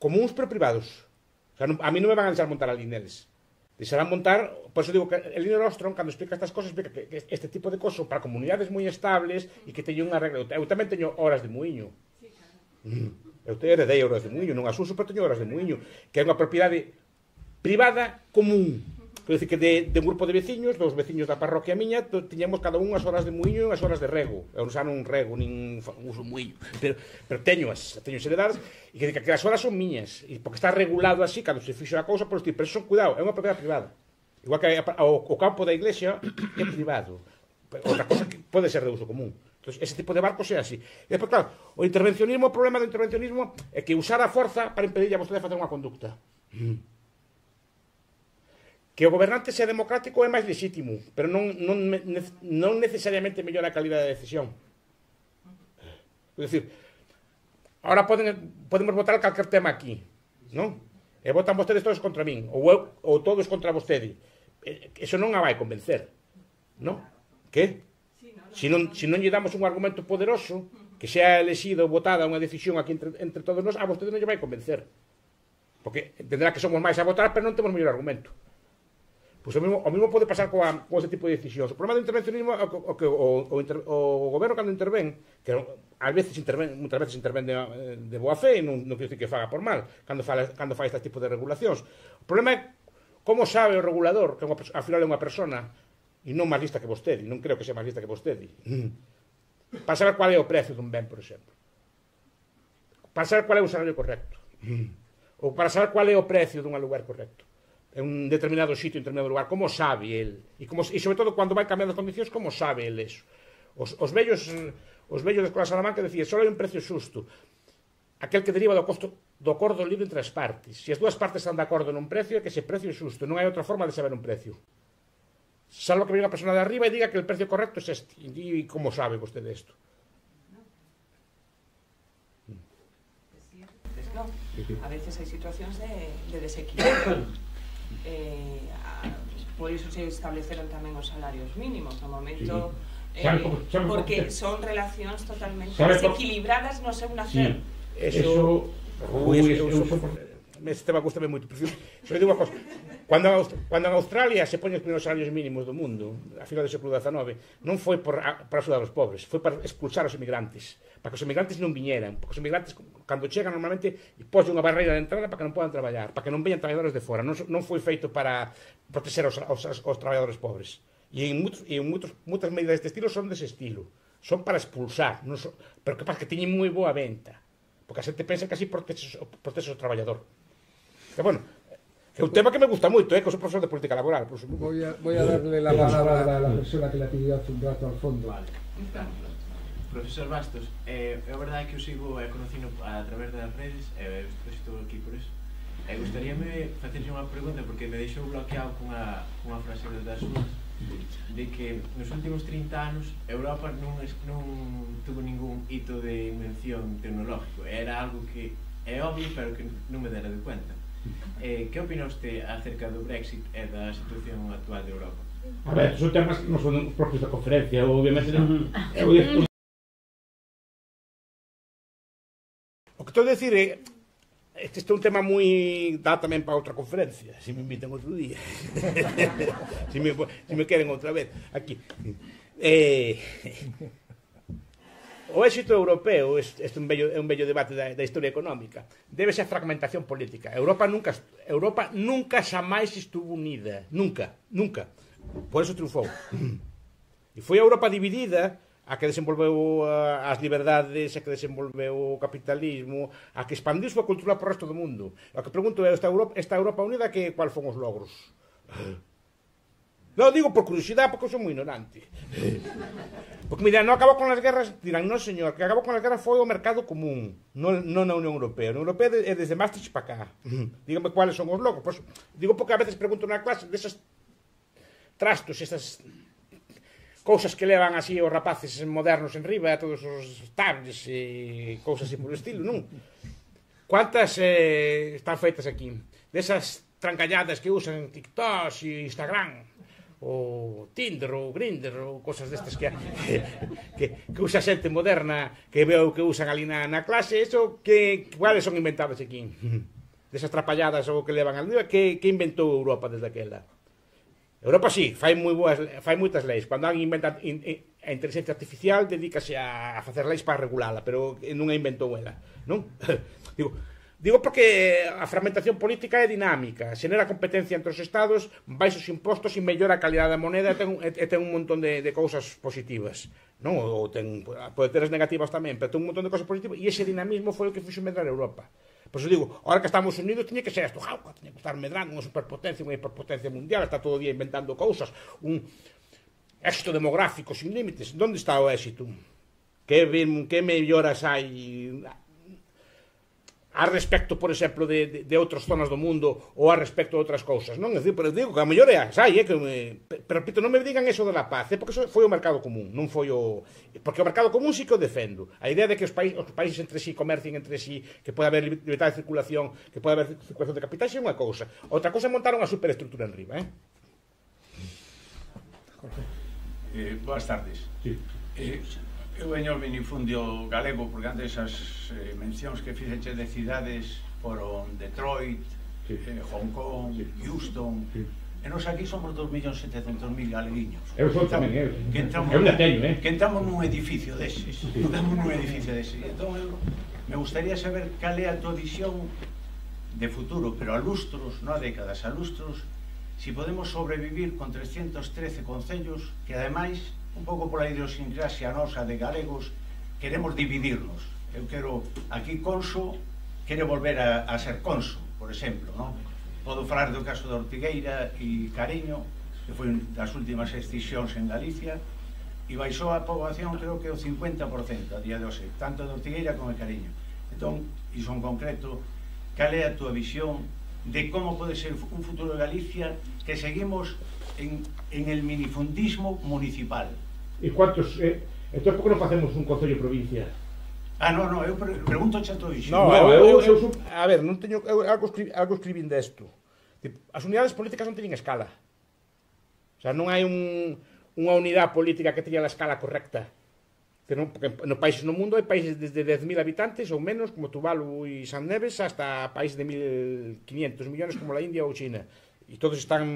comuns pero privados. O sea, non, a mí non me van a deixar montar ali neles. Deixarán montar, por eso digo que Elinor Ostrom, cando explica estas cosas, explica que, que este tipo de cosas son para comunidades moi estables e que teñen unha regla. Eu tamén teño horas de muiño. Sí, claro. Eu te heredei horas de muiño, non as uso, pero teño horas de muiño, que é unha propiedade privada común. Quer dizer que de, de un grupo de veciños, dos veciños da parroquia miña, tiñamos cada un as horas de muiño e as horas de rego. Eu xa non rego, nin uso muiño, pero, pero teño as, teño as heredadas, e que, que as horas son miñas, e porque está regulado así, cando se fixo a cousa, por pero son, cuidado, é unha propiedade privada. Igual que o, o campo da iglesia é privado. Outra cosa que pode ser de uso común. Entón, ese tipo de barcos é así. E despois, claro, o intervencionismo, o problema do intervencionismo é que usar a forza para impedir a vostede facer unha conducta. Que o gobernante sea democrático é máis legítimo, pero non, non, non necesariamente mellora a calidad da decisión. É dicir, ahora poden, podemos votar calquer tema aquí, non? E votan vostedes todos contra min, ou, eu, ou todos contra vostede. Eso non a vai convencer, non? Que? Se non, se non lle damos un argumento poderoso, que sea elexido ou votada unha decisión aquí entre, entre todos nós, a vostede non lle vai convencer. Porque entenderá que somos máis a votar, pero non temos mellor argumento. Pois o mesmo, o mesmo pode pasar coa, con este tipo de decisións. O problema do intervencionismo é o que o, o, inter, o goberno cando intervén, que ás veces interven, muitas veces intervén de, de boa fe, non, non quero dicir que faga por mal, cando fala, cando fai este tipo de regulacións. O problema é como sabe o regulador, que unha, ao final é unha persona, e non máis lista que vostede, non creo que sea máis lista que vostede, para saber qual é o precio dun ben, por exemplo. Para saber qual é o salario correcto. Ou para saber qual é o precio dun lugar correcto. En un determinado sitio, en determinado lugar, como sabe el? E, como, e sobre todo, cando vai cambiando as condicións, como sabe el eso? Os, os vellos os vellos da Escola Salamanca decían, só hai un precio xusto, aquel que deriva do costo do acordo libre entre as partes. Se as dúas partes están de acordo nun precio, é que ese precio é xusto, non hai outra forma de saber un precio. Salvo que venga a persona de arriba e diga que el precio correcto é este. E como sabe vostede isto? No, a veces hai situacións de, de desequilibrio. Eh, a, por iso se estableceron tamén os salarios mínimos no momento, sí. eh, por, porque son relacións totalmente desequilibradas no seu nacer. Sí. Eso, ui, eso, eso, eso, este tema gustame moito, pero só digo unha cosa. Cando, cando en Australia se poñen os primeiros salarios mínimos do mundo, a final do século dezanove, non foi por, para axudar os pobres, foi para expulsar os emigrantes, para que os emigrantes non viñeran, porque os emigrantes, cando chegan, normalmente poñen unha barreira de entrada para que non podan traballar, para que non veñan traballadores de fora, non, non foi feito para proteger os, os, os traballadores pobres. E en, muitos, e en muitos, muitas medidas deste estilo son dese estilo, son para expulsar, non son, pero que pasa que teñen moi boa venta, porque a xente pensa que así protege, protege o traballador. Que bueno, é un tema que me gusta moito, eh, que sou profesor de política laboral. Pues, voy, a, voy a darle la palabra a la persona que la pidió hace un rato al fondo. Vale. Profesor Bastos, eh, é verdade que eu sigo e conocino a través das redes, e eh, estou aquí por eso. E eh, gustaríame facerlle unha pregunta, porque me deixou bloqueado cunha, cunha frase das súas, de que nos últimos trinta anos Europa non, non tuvo ningún hito de invención tecnológico. Era algo que é obvio, pero que non me dera de cuenta. Eh, que opina usted acerca do Brexit e da situación actual de Europa? A ver, son temas que non son propios da conferencia, obviamente non. O que estou a decir é, este é un tema moi dá tamén para outra conferencia, se me invitan outro día. se, me, se me queren outra vez aquí. Eh, o éxito europeo, este é un bello, é un bello debate da, da historia económica, debe ser a fragmentación política. Europa nunca, Europa nunca xamais estuvo unida, nunca, nunca. Por eso triunfou. E foi a Europa dividida a que desenvolveu as liberdades, a que desenvolveu o capitalismo, a que expandiu a cultura por resto do mundo. O que pregunto é, esta Europa, esta Europa unida, que cual fon os logros? Non digo por curiosidade, porque eu sou moi ignorante. Porque, mira, non acabou con as guerras, dirán, non, señor, que acabou con as guerras foi o mercado común, non, non na Unión Europea. A Unión Europea é desde Maastricht para cá. Dígame cuáles son os logros. Pues, digo porque a veces pregunto na clase desas trastos, esas cousas que levan así os rapaces modernos en riba, todos os tablets e cousas así por estilo, non? Cuántas eh, están feitas aquí? Desas trancalladas que usan TikTok e Instagram, ou Tinder, ou Grindr, ou cosas destas que, que, que usa xente moderna, que veo que usan ali na, na clase, eso que cuáles son inventadas aquí? Desas trapalladas ou que levan al día, que, que inventou Europa desde aquela? Europa sí, fai moi boas, fai moitas leis. Cando alguén inventa in, in, a inteligencia artificial, dedícase a, a facer leis para regulala, pero non a inventou ela, non? digo, digo porque a fragmentación política é dinámica, xenera competencia entre os estados, baixos impostos e mellora a calidade da moneda, e ten, e ten un montón de, de cousas positivas, non? Ou ten, pode ter as negativas tamén, pero ten un montón de cousas positivas, e ese dinamismo foi o que fixo medrar Europa. Por eso digo, ahora que estamos unidos tiña que ser esto, jauca, tiña que estar medrando unha superpotencia, unha hiperpotencia mundial, está todo o día inventando cousas, un éxito demográfico sin límites. Donde está o éxito? Que, que melloras hai a respecto, por exemplo, de, de, de outras zonas do mundo ou a respecto de outras cousas, non? É dicir, pero digo que a mellor é as hai, é que me, pero repito, non me digan eso de la paz, é porque eso foi o mercado común, non foi o... Porque o mercado común sí que o defendo. A idea de que os, país, os países entre sí comercien entre sí, que pode haber libertad de circulación, que pode haber circulación de capitais, é unha cousa. Outra cousa é montar unha superestructura en riba, eh? eh boas tardes. Sí. Eu veño ao minifundio galego porque antes as eh, mencións que fixeche de cidades foron Detroit, sí. eh, Hong Kong, sí. Houston, sí. E nos aquí somos dos millóns setecentos mil galeguiños. Eu son tamén, eu. Que entramos, eu non teño, eh? Que entramos nun edificio deses. Sí. Entramos nun edificio deses. Entón, eu, me gustaría saber cal é a tua visión de futuro, pero a lustros, non a décadas, a lustros, si podemos sobrevivir con trescientos trece concellos que, ademais, un pouco pola idiosincrasia nosa de galegos, queremos dividirnos. Eu quero, aquí Conso quere volver a, a ser Conso, por exemplo, non? Podo falar do caso de Ortigueira e Cariño, que foi das últimas excisións en Galicia, e baixou a poboación, creo que o cincuenta por cento a día de hoxe, tanto de Ortigueira como de Cariño. Entón, iso en concreto, cal é a túa visión de como pode ser un futuro de Galicia que seguimos en, en el minifundismo municipal? E cuántos... Eh, entón, por que non facemos un concello provincia? Ah, non, non, eu pregunto xa todo iso. No, no, eu, eu, eu, a ver, non teño, eu algo, escribi, algo escribín desto. As unidades políticas non teñen escala. O sea, non hai un, unha unidade política que teña a escala correcta. Que non, porque no países no mundo hai países desde dez mil habitantes ou menos, como Tuvalu e San Neves, hasta países de mil quinientos millones como la India ou China. E todos están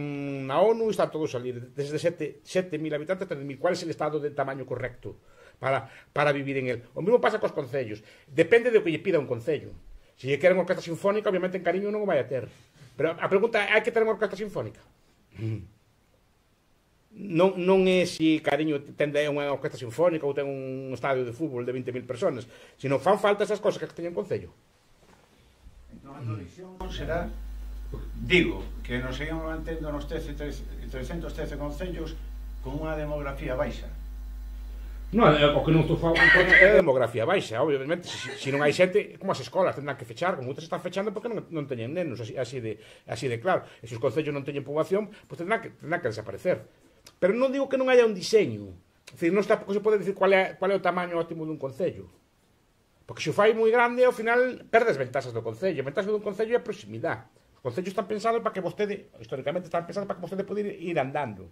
na ONU e están todos a salir. Desde sete mil habitantes hasta dez mil. ¿Cuál é o estado de tamaño correcto para, para vivir en el? O mesmo pasa cos concellos. Depende do que lle pida un concello. Se lle queren orquesta sinfónica, obviamente en Cariño non o vai a ter. Pero a pregunta é, hai que ter unha orquesta sinfónica? Non, non é se Cariño ten unha orquesta sinfónica ou ten un estadio de fútbol de vinte mil personas, sino fan falta esas cosas que teñen concello. Entón a tua visión será, digo, que nos seguimos mantendo nos trescentos trece concellos con unha demografía baixa. Non, o que non estou falando é demografía baixa, obviamente. Se, se non hai xente, como as escolas tendrán que fechar, como moitas están fechando porque non, non teñen nenos, así, así, de, así de claro. E se os concellos non teñen poboación, pois tendrán que, tendrán que desaparecer. Pero non digo que non haya un diseño. É dicir, non está, se pode dicir cual é, cual é o tamaño óptimo dun concello. Porque se o fai moi grande, ao final perdes ventaxas do concello. A ventaxa dun concello é a proximidade. Os concellos están pensados para que vostede, históricamente están pensados para que vostede pode ir, ir andando.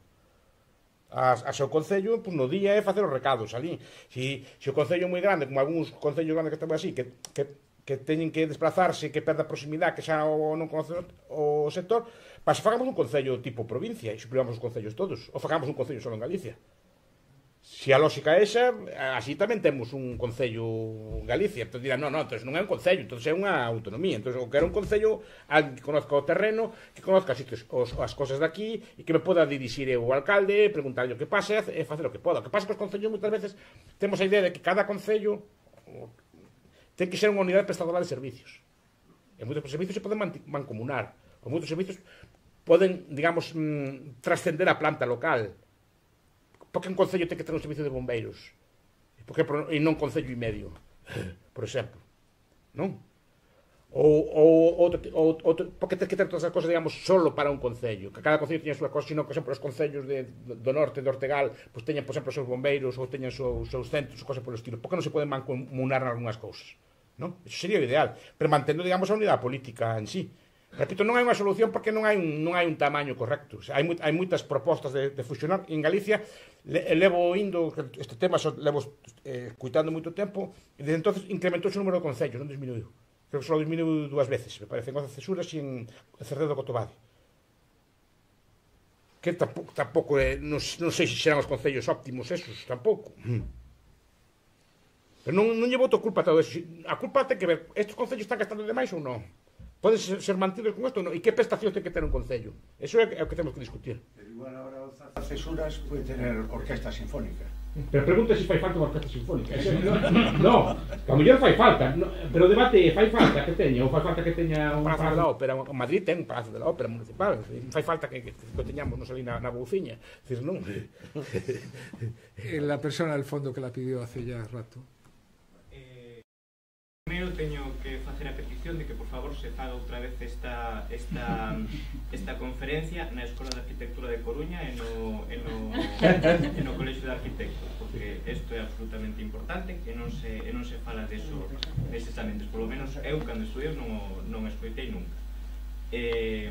A, a seu concello, pues, no día é facer os recados ali. Se, se o concello é moi grande, como algúns concellos grandes que estamos así, que, que, que teñen que desplazarse, que perda a proximidade, que xa o, non conoce o sector, para se fagamos un concello tipo provincia e suprimamos os concellos todos, ou fagamos un concello só en Galicia. Se a lógica é esa, así tamén temos un concello en Galicia. Entón dirán, non, non, entón non é un concello, entón é unha autonomía. Entón, o que era un concello, alguén que conozca o terreno, que conozca sitios, os, as cosas daqui, e que me poda dirixir o alcalde, preguntarlle o que pase e facer o que poda. O que pasa que os concellos moitas veces temos a idea de que cada concello ten que ser unha unidade prestadora de servicios. E moitos servicios se poden mancomunar. Ou moitos servicios poden, digamos, mmm, trascender a planta local. Porque un concello ten que ter un servicio de bombeiros porque, e non concello e medio, por exemplo, non? Ou, ou, outro, ou, outro, porque ten que ter todas as cosas, digamos, solo para un concello, que cada concello teña a súa cosa, sino, por exemplo, os concellos de, do norte, de Ortegal, pues teñan, por exemplo, os seus bombeiros ou teñan os seus, seus centros, ou cosas polo estilo. Porque non se poden mancomunar en algunhas cousas, non? Eso sería o ideal, pero mantendo, digamos, a unidade política en sí. Repito, non hai unha solución porque non hai un, non hai un tamaño correcto. O sea, hai, hai moitas propostas de, de fusionar. En Galicia le, levo indo este tema, so, levo eh, cuitando moito tempo, e desde entonces incrementouse o número de concellos, non disminuiu. Creo que só disminuiu dúas veces, me parece, en Oza Cesuras e en Cerredo do Cotobade. Que tampouco, tampouco eh, non, non sei se serán os concellos óptimos esos, tampouco. Pero non, non llevo outra culpa a todo eso. A culpa ten que ver, estes concellos están gastando demais ou non? Poden ser, ser mantidos con isto ou non? E que prestación ten que ter un concello? Eso é, é o que temos que discutir. Pero igual agora Oza Cesuras pode tener orquesta sinfónica. Pero pregunta se fai falta unha orquesta sinfónica. No, que a mellor fai falta, no, pero o debate fai falta que teña, ou fai falta que teña un Palacio da Ópera. Madrid ten un Palacio da Ópera municipal, fai falta que, que, que teñamos nos ali na, na Bouciña. Decir, non. La persona del fondo que la pidió hace ya rato. Primeiro teño que facer a petición de que por favor se faga outra vez esta, esta, esta conferencia na Escola de Arquitectura de Coruña e no, e no, e no Colexio de Arquitectos, porque isto é absolutamente importante e non se, e non se fala deso neses ambientes, polo menos eu cando estudei non, non escoitei nunca. E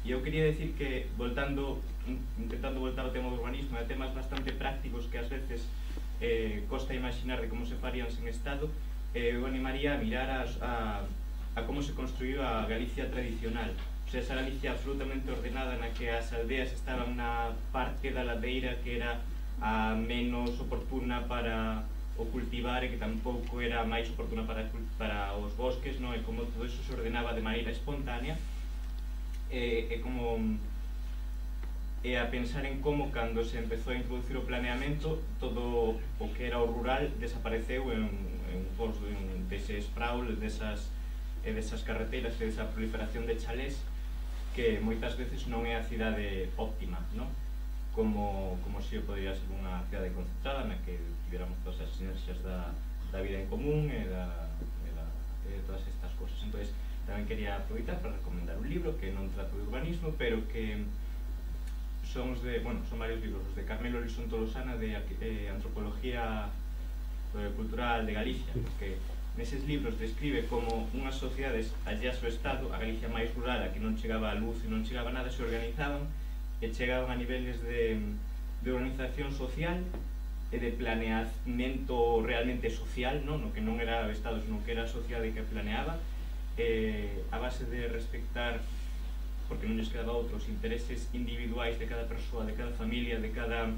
eu quería decir que voltando, intentando voltar ao tema do urbanismo e a temas bastante prácticos que ás veces eh, costa imaginar de como se farían sen Estado, eh, eu animaría a mirar a, a, a como se construiu a Galicia tradicional. O sea, esa Galicia absolutamente ordenada na que as aldeas estaban na parte da ladeira que era a menos oportuna para o cultivar e que tampouco era máis oportuna para, para os bosques, no? E como todo iso se ordenaba de maneira espontánea, e, e como e a pensar en como cando se empezou a introducir o planeamento todo o que era o rural desapareceu en, en pos en, deses praules, desas, e desas carreteras e desa proliferación de chalés que moitas veces non é a cidade óptima, non? Como, como se podría ser unha cidade concentrada na que tiveramos todas as sinerxias da, da vida en común e, da, e, da, e de todas estas cosas. Entón, tamén quería aproveitar para recomendar un libro que non trata de urbanismo, pero que son os de, bueno, son varios libros, os de Carmelo Lison Tolosana de eh, Antropología eh, Cultural de Galicia, que neses libros describe como unhas sociedades alleas ao Estado, a Galicia máis rural, a que non chegaba a luz e non chegaba a nada, se organizaban e chegaban a niveles de, de organización social e de planeamento realmente social, non? No que non era o Estado, sino que era a sociedade que planeaba, eh, a base de respectar, porque non lles quedaba outros intereses individuais de cada persoa, de cada familia, de cada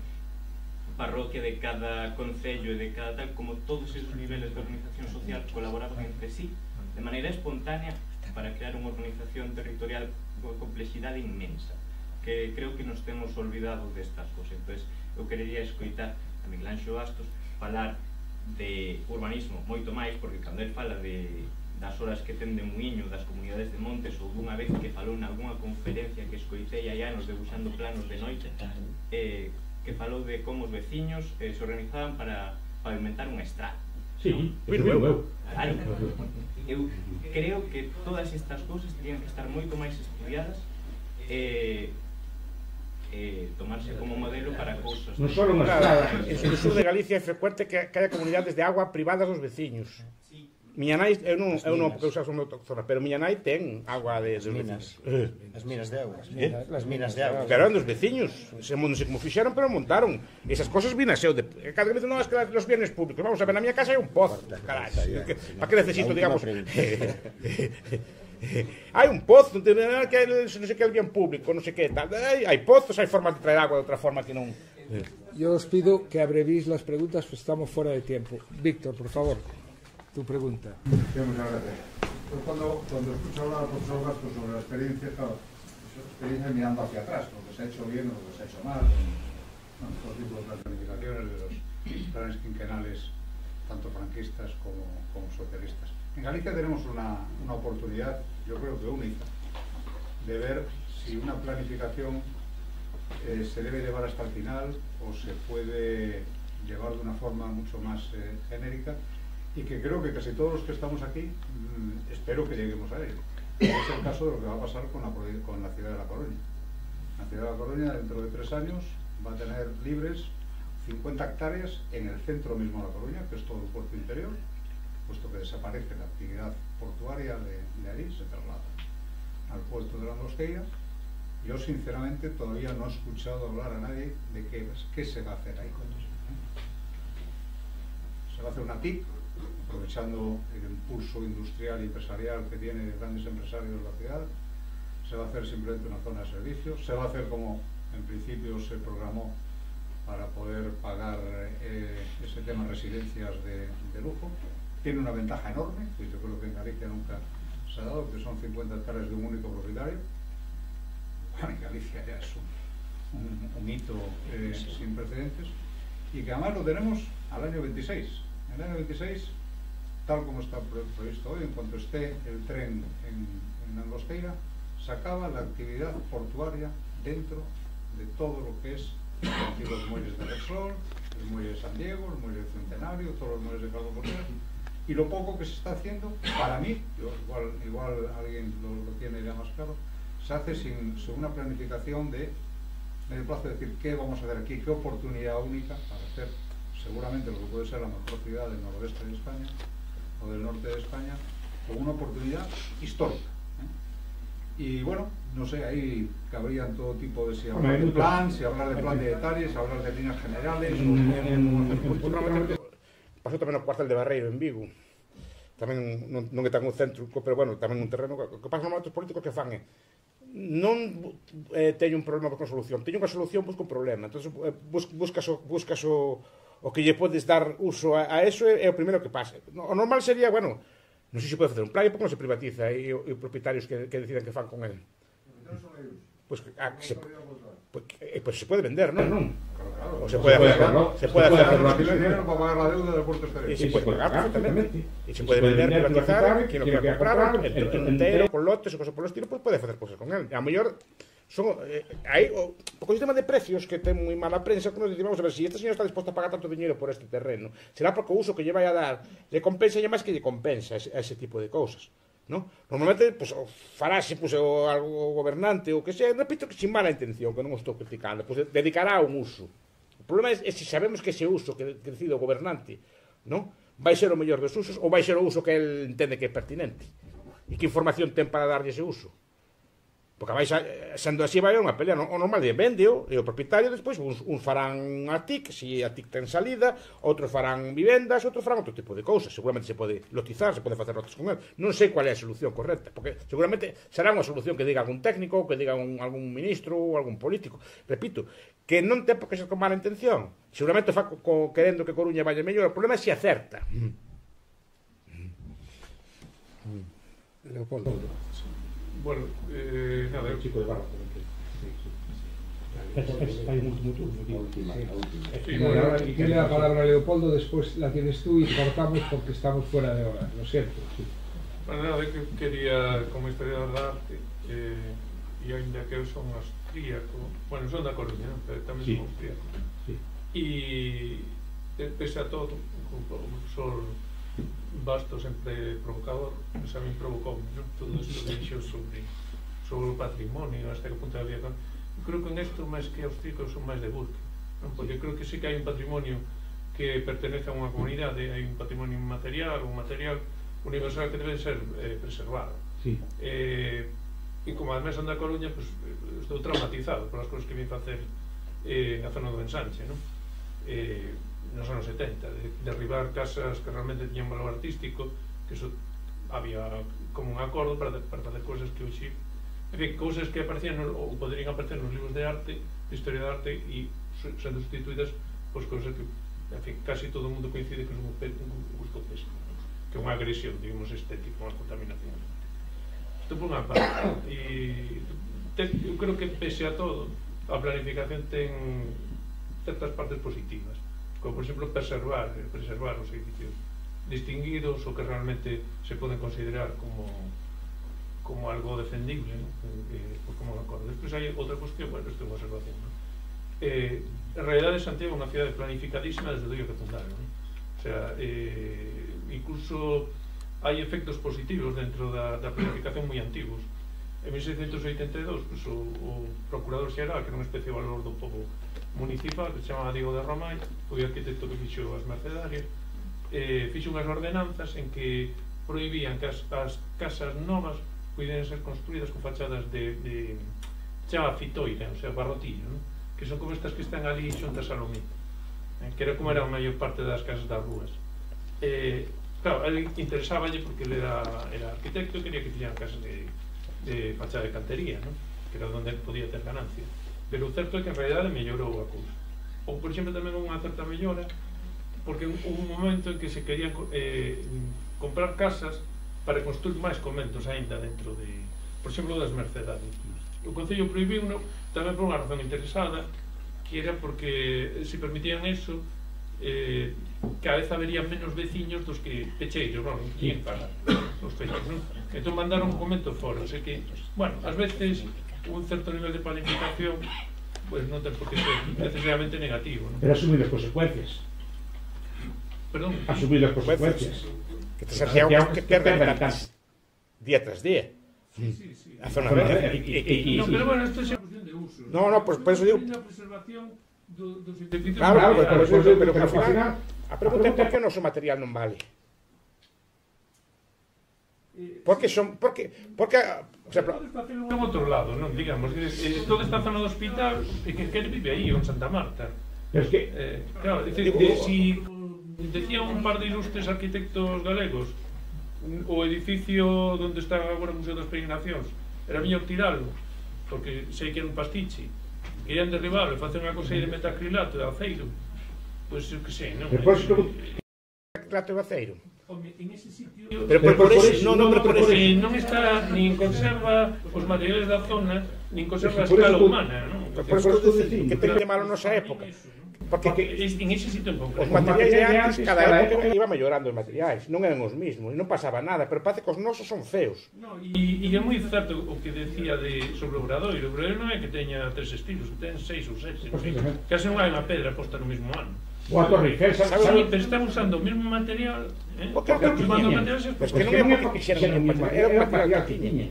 parroquia, de cada concello e de cada tal, como todos esos niveles de organización social colaboraban entre sí de maneira espontánea para crear unha organización territorial con complexidade inmensa, que creo que nos temos olvidado destas cosas. Entón, eu querería escoitar a Miguel Anxo Bastos falar de urbanismo moito máis, porque cando ele fala de das horas que ten de Muiño, das comunidades de montes, ou dunha vez que falou nalgúna conferencia que escoitei hai anos debuxando planos de noite, eh, que falou de como os veciños eh, se organizaban para pavimentar unha estrada. Sí, pero eu, eu. Claro. Eu creo que todas estas cousas terían que estar moito máis estudiadas e eh, tomarse como modelo para cousas. Non só unha estrada. En o sur de Galicia é frecuente que, que haya comunidades de agua privadas dos veciños. Miña nai, eu non, eu non porque usas o meu zona, pero miña nai ten agua de, de minas, eh. as minas de auga, eh? as minas de auga. Pero eran dos veciños, se non sei como fixeron, pero montaron. Esas cosas vinas eu de cada vez non es que los bienes públicos. Vamos a ver, na miña casa hai un pozo, caralho. Para que necesito, digamos? Hai un pozo, non sei que é el bien público, non sei que tal. Hai pozos, hai formas de traer agua de outra forma que non. Yo os pido que abrevéis las preguntas, pues estamos fuera de tiempo. Víctor, por favor. Tu pregunta. Sí, muchas gracias. Pues cuando, cuando escucho hablar al profesor Bastos sobre la experiencia, claro, la experiencia mirando hacia atrás, lo que se ha hecho bien o lo que se ha hecho mal, con, con todo tipo de planificaciones de los planes quinquenales, tanto franquistas como, como socialistas. En Galicia tenemos una, una oportunidad, yo creo que única, de ver si una planificación eh, se debe llevar hasta el final o se puede llevar de una forma mucho más eh, genérica, y que creo que casi todos los que estamos aquí mmm, espero que lleguemos a ello. Es el caso de lo que va a pasar con la, con la ciudad de La Coruña. La ciudad de La Coruña dentro de tres años va a tener libres cincuenta hectáreas en el centro mismo de La Coruña, que es todo el puerto interior, puesto que desaparece la actividad portuaria de, de ahí, se traslada al puerto de la Angostura. Yo sinceramente todavía no he escuchado hablar a nadie de qué, qué se va a hacer ahí. Se va a hacer una T I C, aprovechando el impulso industrial y empresarial que tiene grandes empresarios de la ciudad. Se va a hacer simplemente una zona de servicios, se va a hacer como en principio se programó para poder pagar eh, ese tema de residencias de, de lujo. Tiene una ventaja enorme, que yo creo que en Galicia nunca se ha dado, que son cincuenta hectáreas de un único propietario. Bueno, en Galicia ya es un, un, un hito eh, sin precedentes, y que además lo tenemos al año veintiséis. En el año veintiséis, tal como está previsto hoy, en cuanto esté el tren en, en Angostura, se acaba la actividad portuaria dentro de todo lo que es los muelles de Repsol, el muelle de San Diego, el muelle de Centenario, todos los muelles de Calvo Porter, y lo poco que se está haciendo, para mí, yo, igual, igual alguien lo, lo tiene ya más claro, se hace sin, sin una planificación de medio plazo, de decir qué vamos a hacer aquí, qué oportunidad única para hacer seguramente lo que puede ser la mejor ciudad del noroeste de España o del norte de España, con una oportunidad histórica, ¿eh? Y bueno, no sé, ahí cabrían todo tipo de si hablar de plan, si hablar de plan de detalles, si hablar de líneas generales. Pasou tamén no cuartel de Barreiro en Vigo. Tamén non, non é tan un centro, pero bueno, tamén un terreno. O que pasa nos políticos que fan é non eh, teño un problema con solución, teño unha solución, busco un problema. Entón, eh, bus, buscas, o, buscas o, o que lle podes dar uso a, a eso é, é o primeiro que pasa. O normal sería, bueno, non sei se pode facer un plan, e porque non se privatiza e os propietarios que, que deciden que fan con él. Pois pues, ah, se, pues, eh, pues se pode vender, non? Non. O se puede hacerlo, se puede hacerlo. Dinero para pagar la deuda del puerto exterior. Y se puede pagar perfectamente. Y se puede vender, privatizar, quien lo quiera comprar, entero, con lotes o cosas por el estilo, pues puede hacer cosas con él. A mellor son eh, hai o, o sistema de precios que ten moi mala prensa, que nos dicimos, vamos a ver, si este señor está disposto a pagar tanto dinero por este terreno, será porque o uso que lle vai a dar le compensa e máis que lle compensa a ese, a ese tipo de cousas, ¿no? Normalmente, pues, o farase, pues, o, o gobernante ou que sea, repito que sin mala intención, que non o estou criticando, pues dedicará a un uso. O problema é, é se sabemos que ese uso que, que decide o gobernante, ¿no?, vai ser o mellor dos usos ou vai ser o uso que el entende que é pertinente. E que información ten para darlle ese uso? Porque vais a, sendo así vai unha pelea, o normal é vendeo e o propietario despois uns, uns farán a T I C, se a T I C ten salida, outros farán vivendas, outros farán outro tipo de cousas. Seguramente se pode lotizar, se pode facer lotes con él. Non sei qual é a solución correcta, porque seguramente será unha solución que diga algún técnico, ou que diga un, algún ministro ou algún político. Repito, que non ten por que ser con mala intención. Seguramente fa co, co, querendo que Coruña vaya mellor. O problema é se acerta. Leopoldo. Bueno, eh, nada, el chico de barro. Hay un último turno. Y tiene la palabra a Leopoldo, después la tienes tú y cortamos porque estamos fuera de hora, lo siento. Sí. Bueno, nada, que quería, como historiador de arte, eh, e ainda que eu son austríaco, bueno, son da Coruña, ¿no? Pero tamén sí. Son austríaco. Sí. E, pese a todo, como o profesor Bastos sempre provocador, pues a mí provocou, ¿no? Todo isto que dixo sobre, sobre o patrimonio, hasta que punto había. Creo que en esto, máis que austríacos, son máis de busca, ¿no? Porque creo que sí que hai un patrimonio que pertenece a unha comunidade, hai un patrimonio material, un material universal que debe ser eh, preservado. Sí. Eh, e como además son da Coruña, pues, estou traumatizado por as cousas que vim facer eh, na zona do Ensanche, ¿no? Eh, nos anos setenta, de derribar casas que realmente tiñan valor artístico, que eso había como un acordo para, para facer cousas que hoxe, en fin, cousas que aparecían no, ou poderían aparecer nos libros de arte, de historia de arte, e sendo sustituídas por cousas que, en fin, casi todo o mundo coincide que son un, un gusto pesco, ¿no? Que é unha agresión, digamos, estética, unha contaminación. Isto por unha parte, e te, eu creo que pese a todo, a planificación ten certas partes positivas, como por exemplo preservar, preservar os edificios distinguidos ou que realmente se poden considerar como como algo defendible, ¿no? Eh, pues como un acordo. Despois hai outra cuestión, bueno, isto é unha observación, ¿no? Eh, en realidade Santiago é unha cidade planificadísima desde o día que fundaron, ¿no? O sea, eh, incluso hai efectos positivos dentro da, da planificación moi antigos. En mil seiscentos oitenta e dous, pues, o, o procurador xeral, que era unha especie de valor do povo municipal, que se chamaba Diego de Romay, foi o arquitecto que fixo as Mercedarias, eh, fixo unhas ordenanzas en que prohibían que as, as casas novas pudieran ser construídas con fachadas de, de chama fitoira, o sea, barrotillo, ¿no? Que son como estas que están ali xuntas a Salomé, eh, que era como era a maior parte das casas das rúas. Eh, claro, a ele interesáballe porque ele era, era arquitecto e quería que tiñan casas de, de fachada de cantería, ¿no? Que era onde podía ter ganancia. Pero o certo é que en realidade mellorou a cousa. Ou, por exemplo, tamén unha certa mellora, porque houve un momento en que se querían eh, comprar casas para construir máis conventos aínda dentro de, por exemplo, das Mercedarias. O Concello prohibiu uno tamén por unha razón interesada, que era porque se permitían eso, eh, cada vez habería menos veciños dos que pecheiros, non? Quien para os pechos, non? Entón mandaron un convento fora, o sea que, bueno, ás veces un certo nivel de planificación pues non ten por que ser necesariamente negativo, ¿no? Pero asumir as consecuencias. Perdón? Asumir as consecuencias. Que te Santiago que perde habitantes día tras día. Sí, sí, sí. A zona verde. No, pero bueno, esto é unha cuestión de uso. No, no, pues por eso digo. A preservación dos edificios. Claro, claro, pero por eso digo, pero que ao final a pregunta é por que o noso material non vale. Porque son, porque, porque, por exemplo, todo está en outro lado, non, digamos, eh, toda esta zona do hospital, e que, que vive aí, en Santa Marta. Pero es que, eh, claro, decir, que si decía un par de ilustres arquitectos galegos, o edificio onde está agora o Museo das Peregrinacións, era mellor tiralo, porque sei que era un pastiche, querían derribarlo e facer unha cosa de metacrilato de aceiro, pois eu que sei, non? Depois, metacrilato de aceiro? Home, en ese sitio... Pero por eso, non, non, por eso non está, nin conserva os materiales da zona, nin conserva a escala humana, non? Por eso que ten que malo nosa época. Porque en ese sitio un pouco. Os materiais de antes, cada época iba mellorando os materiais, non eran os mismos, e non pasaba nada, pero parece que os nosos son feos. E é moi certo o que decía sobre o Obradoiro. O Obradoiro non é que teña tres estilos, que ten seis ou sete, case non hai unha pedra posta no mesmo ano. O a Torre Eiffel, sabe, pero están usando o mesmo material, eh? Porque que tiña, pois que non é porque quixeran un material, era un material que tiña.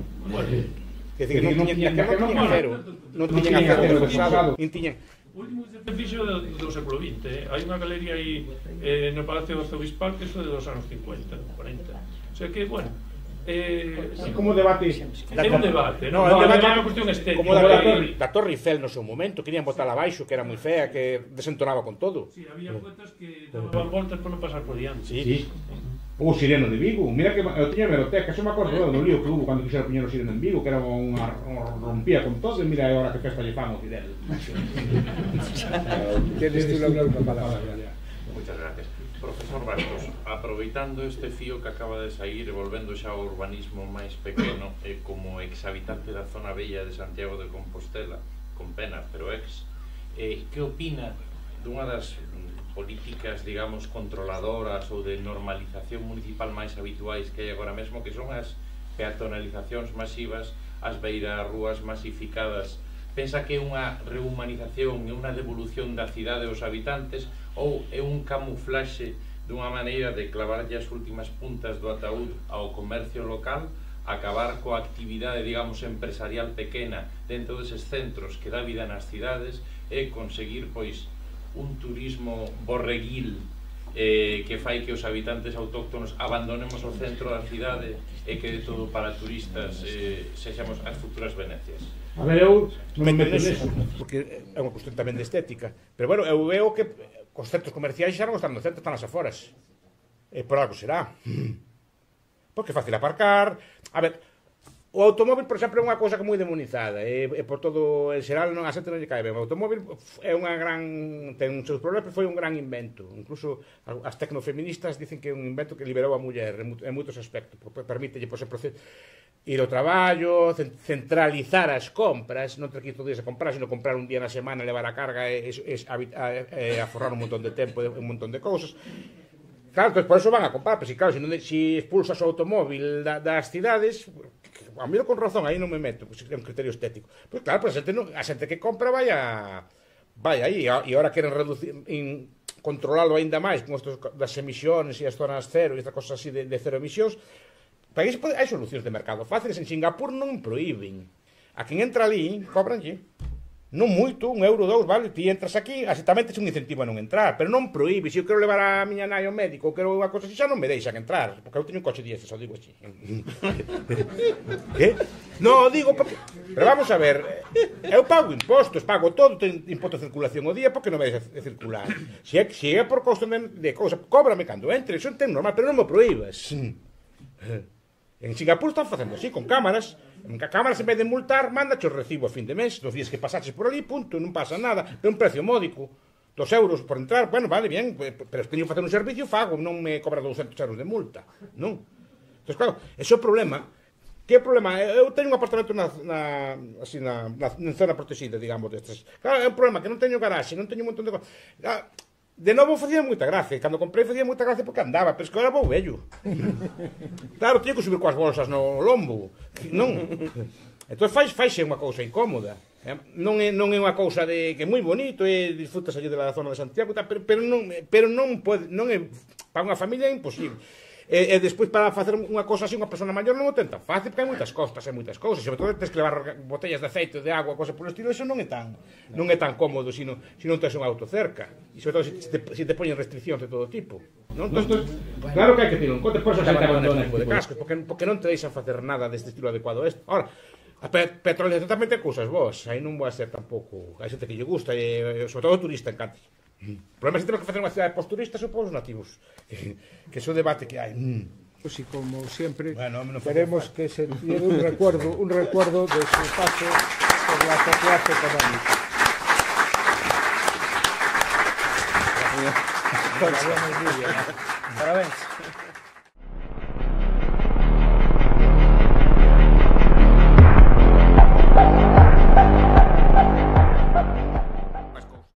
Que decir, non tiñan acero, non tiñan acero pesado, non tiñan... O último edificio do, do século vinte, eh? Hai unha galería aí eh, no Palacio do Arzobispal que é de dos anos cincuenta, cuarenta. O sea que, bueno, eh, sí, como debate é un debate, non? No, no, debate é unha cuestión estética. Como da, da, torre, da Torre Eiffel no seu momento, querían botarla abaixo, que era moi fea, que desentonaba con todo. Sí, había poetas que daban voltas por non pasar por diante. Sí, sí. O Sireno de Vigo, mira que eu tiña hemeroteca, eso me acordo do lío que hubo cando quixeron poñer o Sireno en Vigo, que era unha rompía con todo, e mira agora que festa lle fan o Fidel. Tienes tú la última palabra. Muchas gracias. Profesor Bastos, aproveitando este fío que acaba de sair e volvendo xa ao urbanismo máis pequeno, e como exhabitante da zona bella de Santiago de Compostela, con pena, pero ex, eh, que opina dunha das políticas, digamos, controladoras ou de normalización municipal máis habituais que hai agora mesmo, que son as peatonalizacións masivas, as beirarrúas masificadas? Pensa que é unha rehumanización e unha devolución da cidade aos habitantes, ou é un camuflaxe dunha maneira de clavarlle as últimas puntas do ataúd ao comercio local, acabar coa actividade, digamos, empresarial pequena dentro deses centros que dá vida nas cidades e conseguir, pois, un turismo borreguil eh, que fai que os habitantes autóctonos abandonemos o centro da cidade e que de todo para turistas eh, sexamos as futuras Venecias. A ver, eu non me meto neso, porque é unha cuestión tamén de estética, pero bueno, eu veo que os centros comerciais xa non están no centro, están nas aforas, e por algo será, porque é fácil aparcar. A ver, o automóvil, por exemplo, é unha cousa que é moi demonizada, e, e por todo el xeral non, a xente non lle cae ben. O automóvil é unha gran, ten uns seus problemas, pero foi un gran invento. Incluso as tecnofeministas dicen que é un invento que liberou a muller en moitos aspectos, porque permítelle, por exemplo, ir ao traballo, centralizar as compras, non ter que ir todo días a comprar, sino comprar un día na semana, levar a carga e, e, e aforrar un montón de tempo e un montón de cousas. Claro, entón, por eso van a comprar, pero si, claro, si, non, si expulsas o automóvil da, das cidades, a mí con razón, aí non me meto, pues, é un criterio estético. Pois pues, claro, pues, a, xente non, a xente que compra vai a vai aí, e agora queren reducir, in, controlalo aínda máis con estos das emisións e as zonas cero e estas cosas así de, de cero emisións. Para iso hai solucións de mercado fáciles. En Singapur non prohíben. A quen entra ali, cobranlle. Non moito, un euro, dous, vale, ti entras aquí, así tamén tes un incentivo a non entrar, pero non prohíbe. Se eu quero levar a miña nai ao médico, ou quero unha cosa así, xa non me deixan entrar, porque eu teño un coche diésel, só digo así. Que? Non, digo, porque... Pero vamos a ver, eu pago impostos, pago todo, ten imposto de circulación o día, porque non me deixa de circular. Se é, se é por costo de, de cousa, cóbrame cando entre, iso ten normal, pero non me prohíbas. En Singapur están facendo así, con cámaras. En cámaras, en vez de multar, mándache o recibo a fin de mes, dos días que pasaches por ali, punto, non pasa nada, é un precio módico, dos euros por entrar, bueno, vale, bien, pero se teño que facer un servicio, fago, non me cobra douscentos euros de multa, non? Entón, claro, ese é o problema. Que é o problema? Eu teño un apartamento na, na, así, na, na, na zona protegida, digamos, destes. Claro, é un problema que non teño garaxe, non teño un montón de cosas. De novo facía moita gracia, cando comprei facía moita gracia porque andaba, pero es que agora vou vello. Claro, teño que subir coas bolsas no lombo, non? Entón fais, faixe unha cousa incómoda. Non é, non é unha cousa de que é moi bonito e disfrutas allí da zona de Santiago, pero, pero non, pero non pode, non é, para unha familia é imposible. E, e despois para facer unha cosa así unha persona maior non o ten tan fácil, porque hai moitas costas, hai moitas cousas, sobre todo tens que levar botellas de aceite, de agua, cosa por estilo, eso non é tan non é tan cómodo se non, se non tens un auto cerca, e sobre todo se te, se te poñen restriccións de todo tipo, non? Entón, claro que hai que ter en conta, por eso se abandonan este tipo de cascos, porque, porque non te deixan facer nada deste estilo adecuado a isto. Ahora, a pe petrolización tamén ten cousas vos, aí non vai ser tampouco, hai xente que lle gusta, e sobre todo o turista encanta. O problema é que temos que facer unha cidade post-turistas ou para os nativos, que, que é o debate que hai. Pues y como siempre, bueno, no queremos que se lleve un recuerdo, un recuerdo de su paso por la sociedad económica. Parabéns.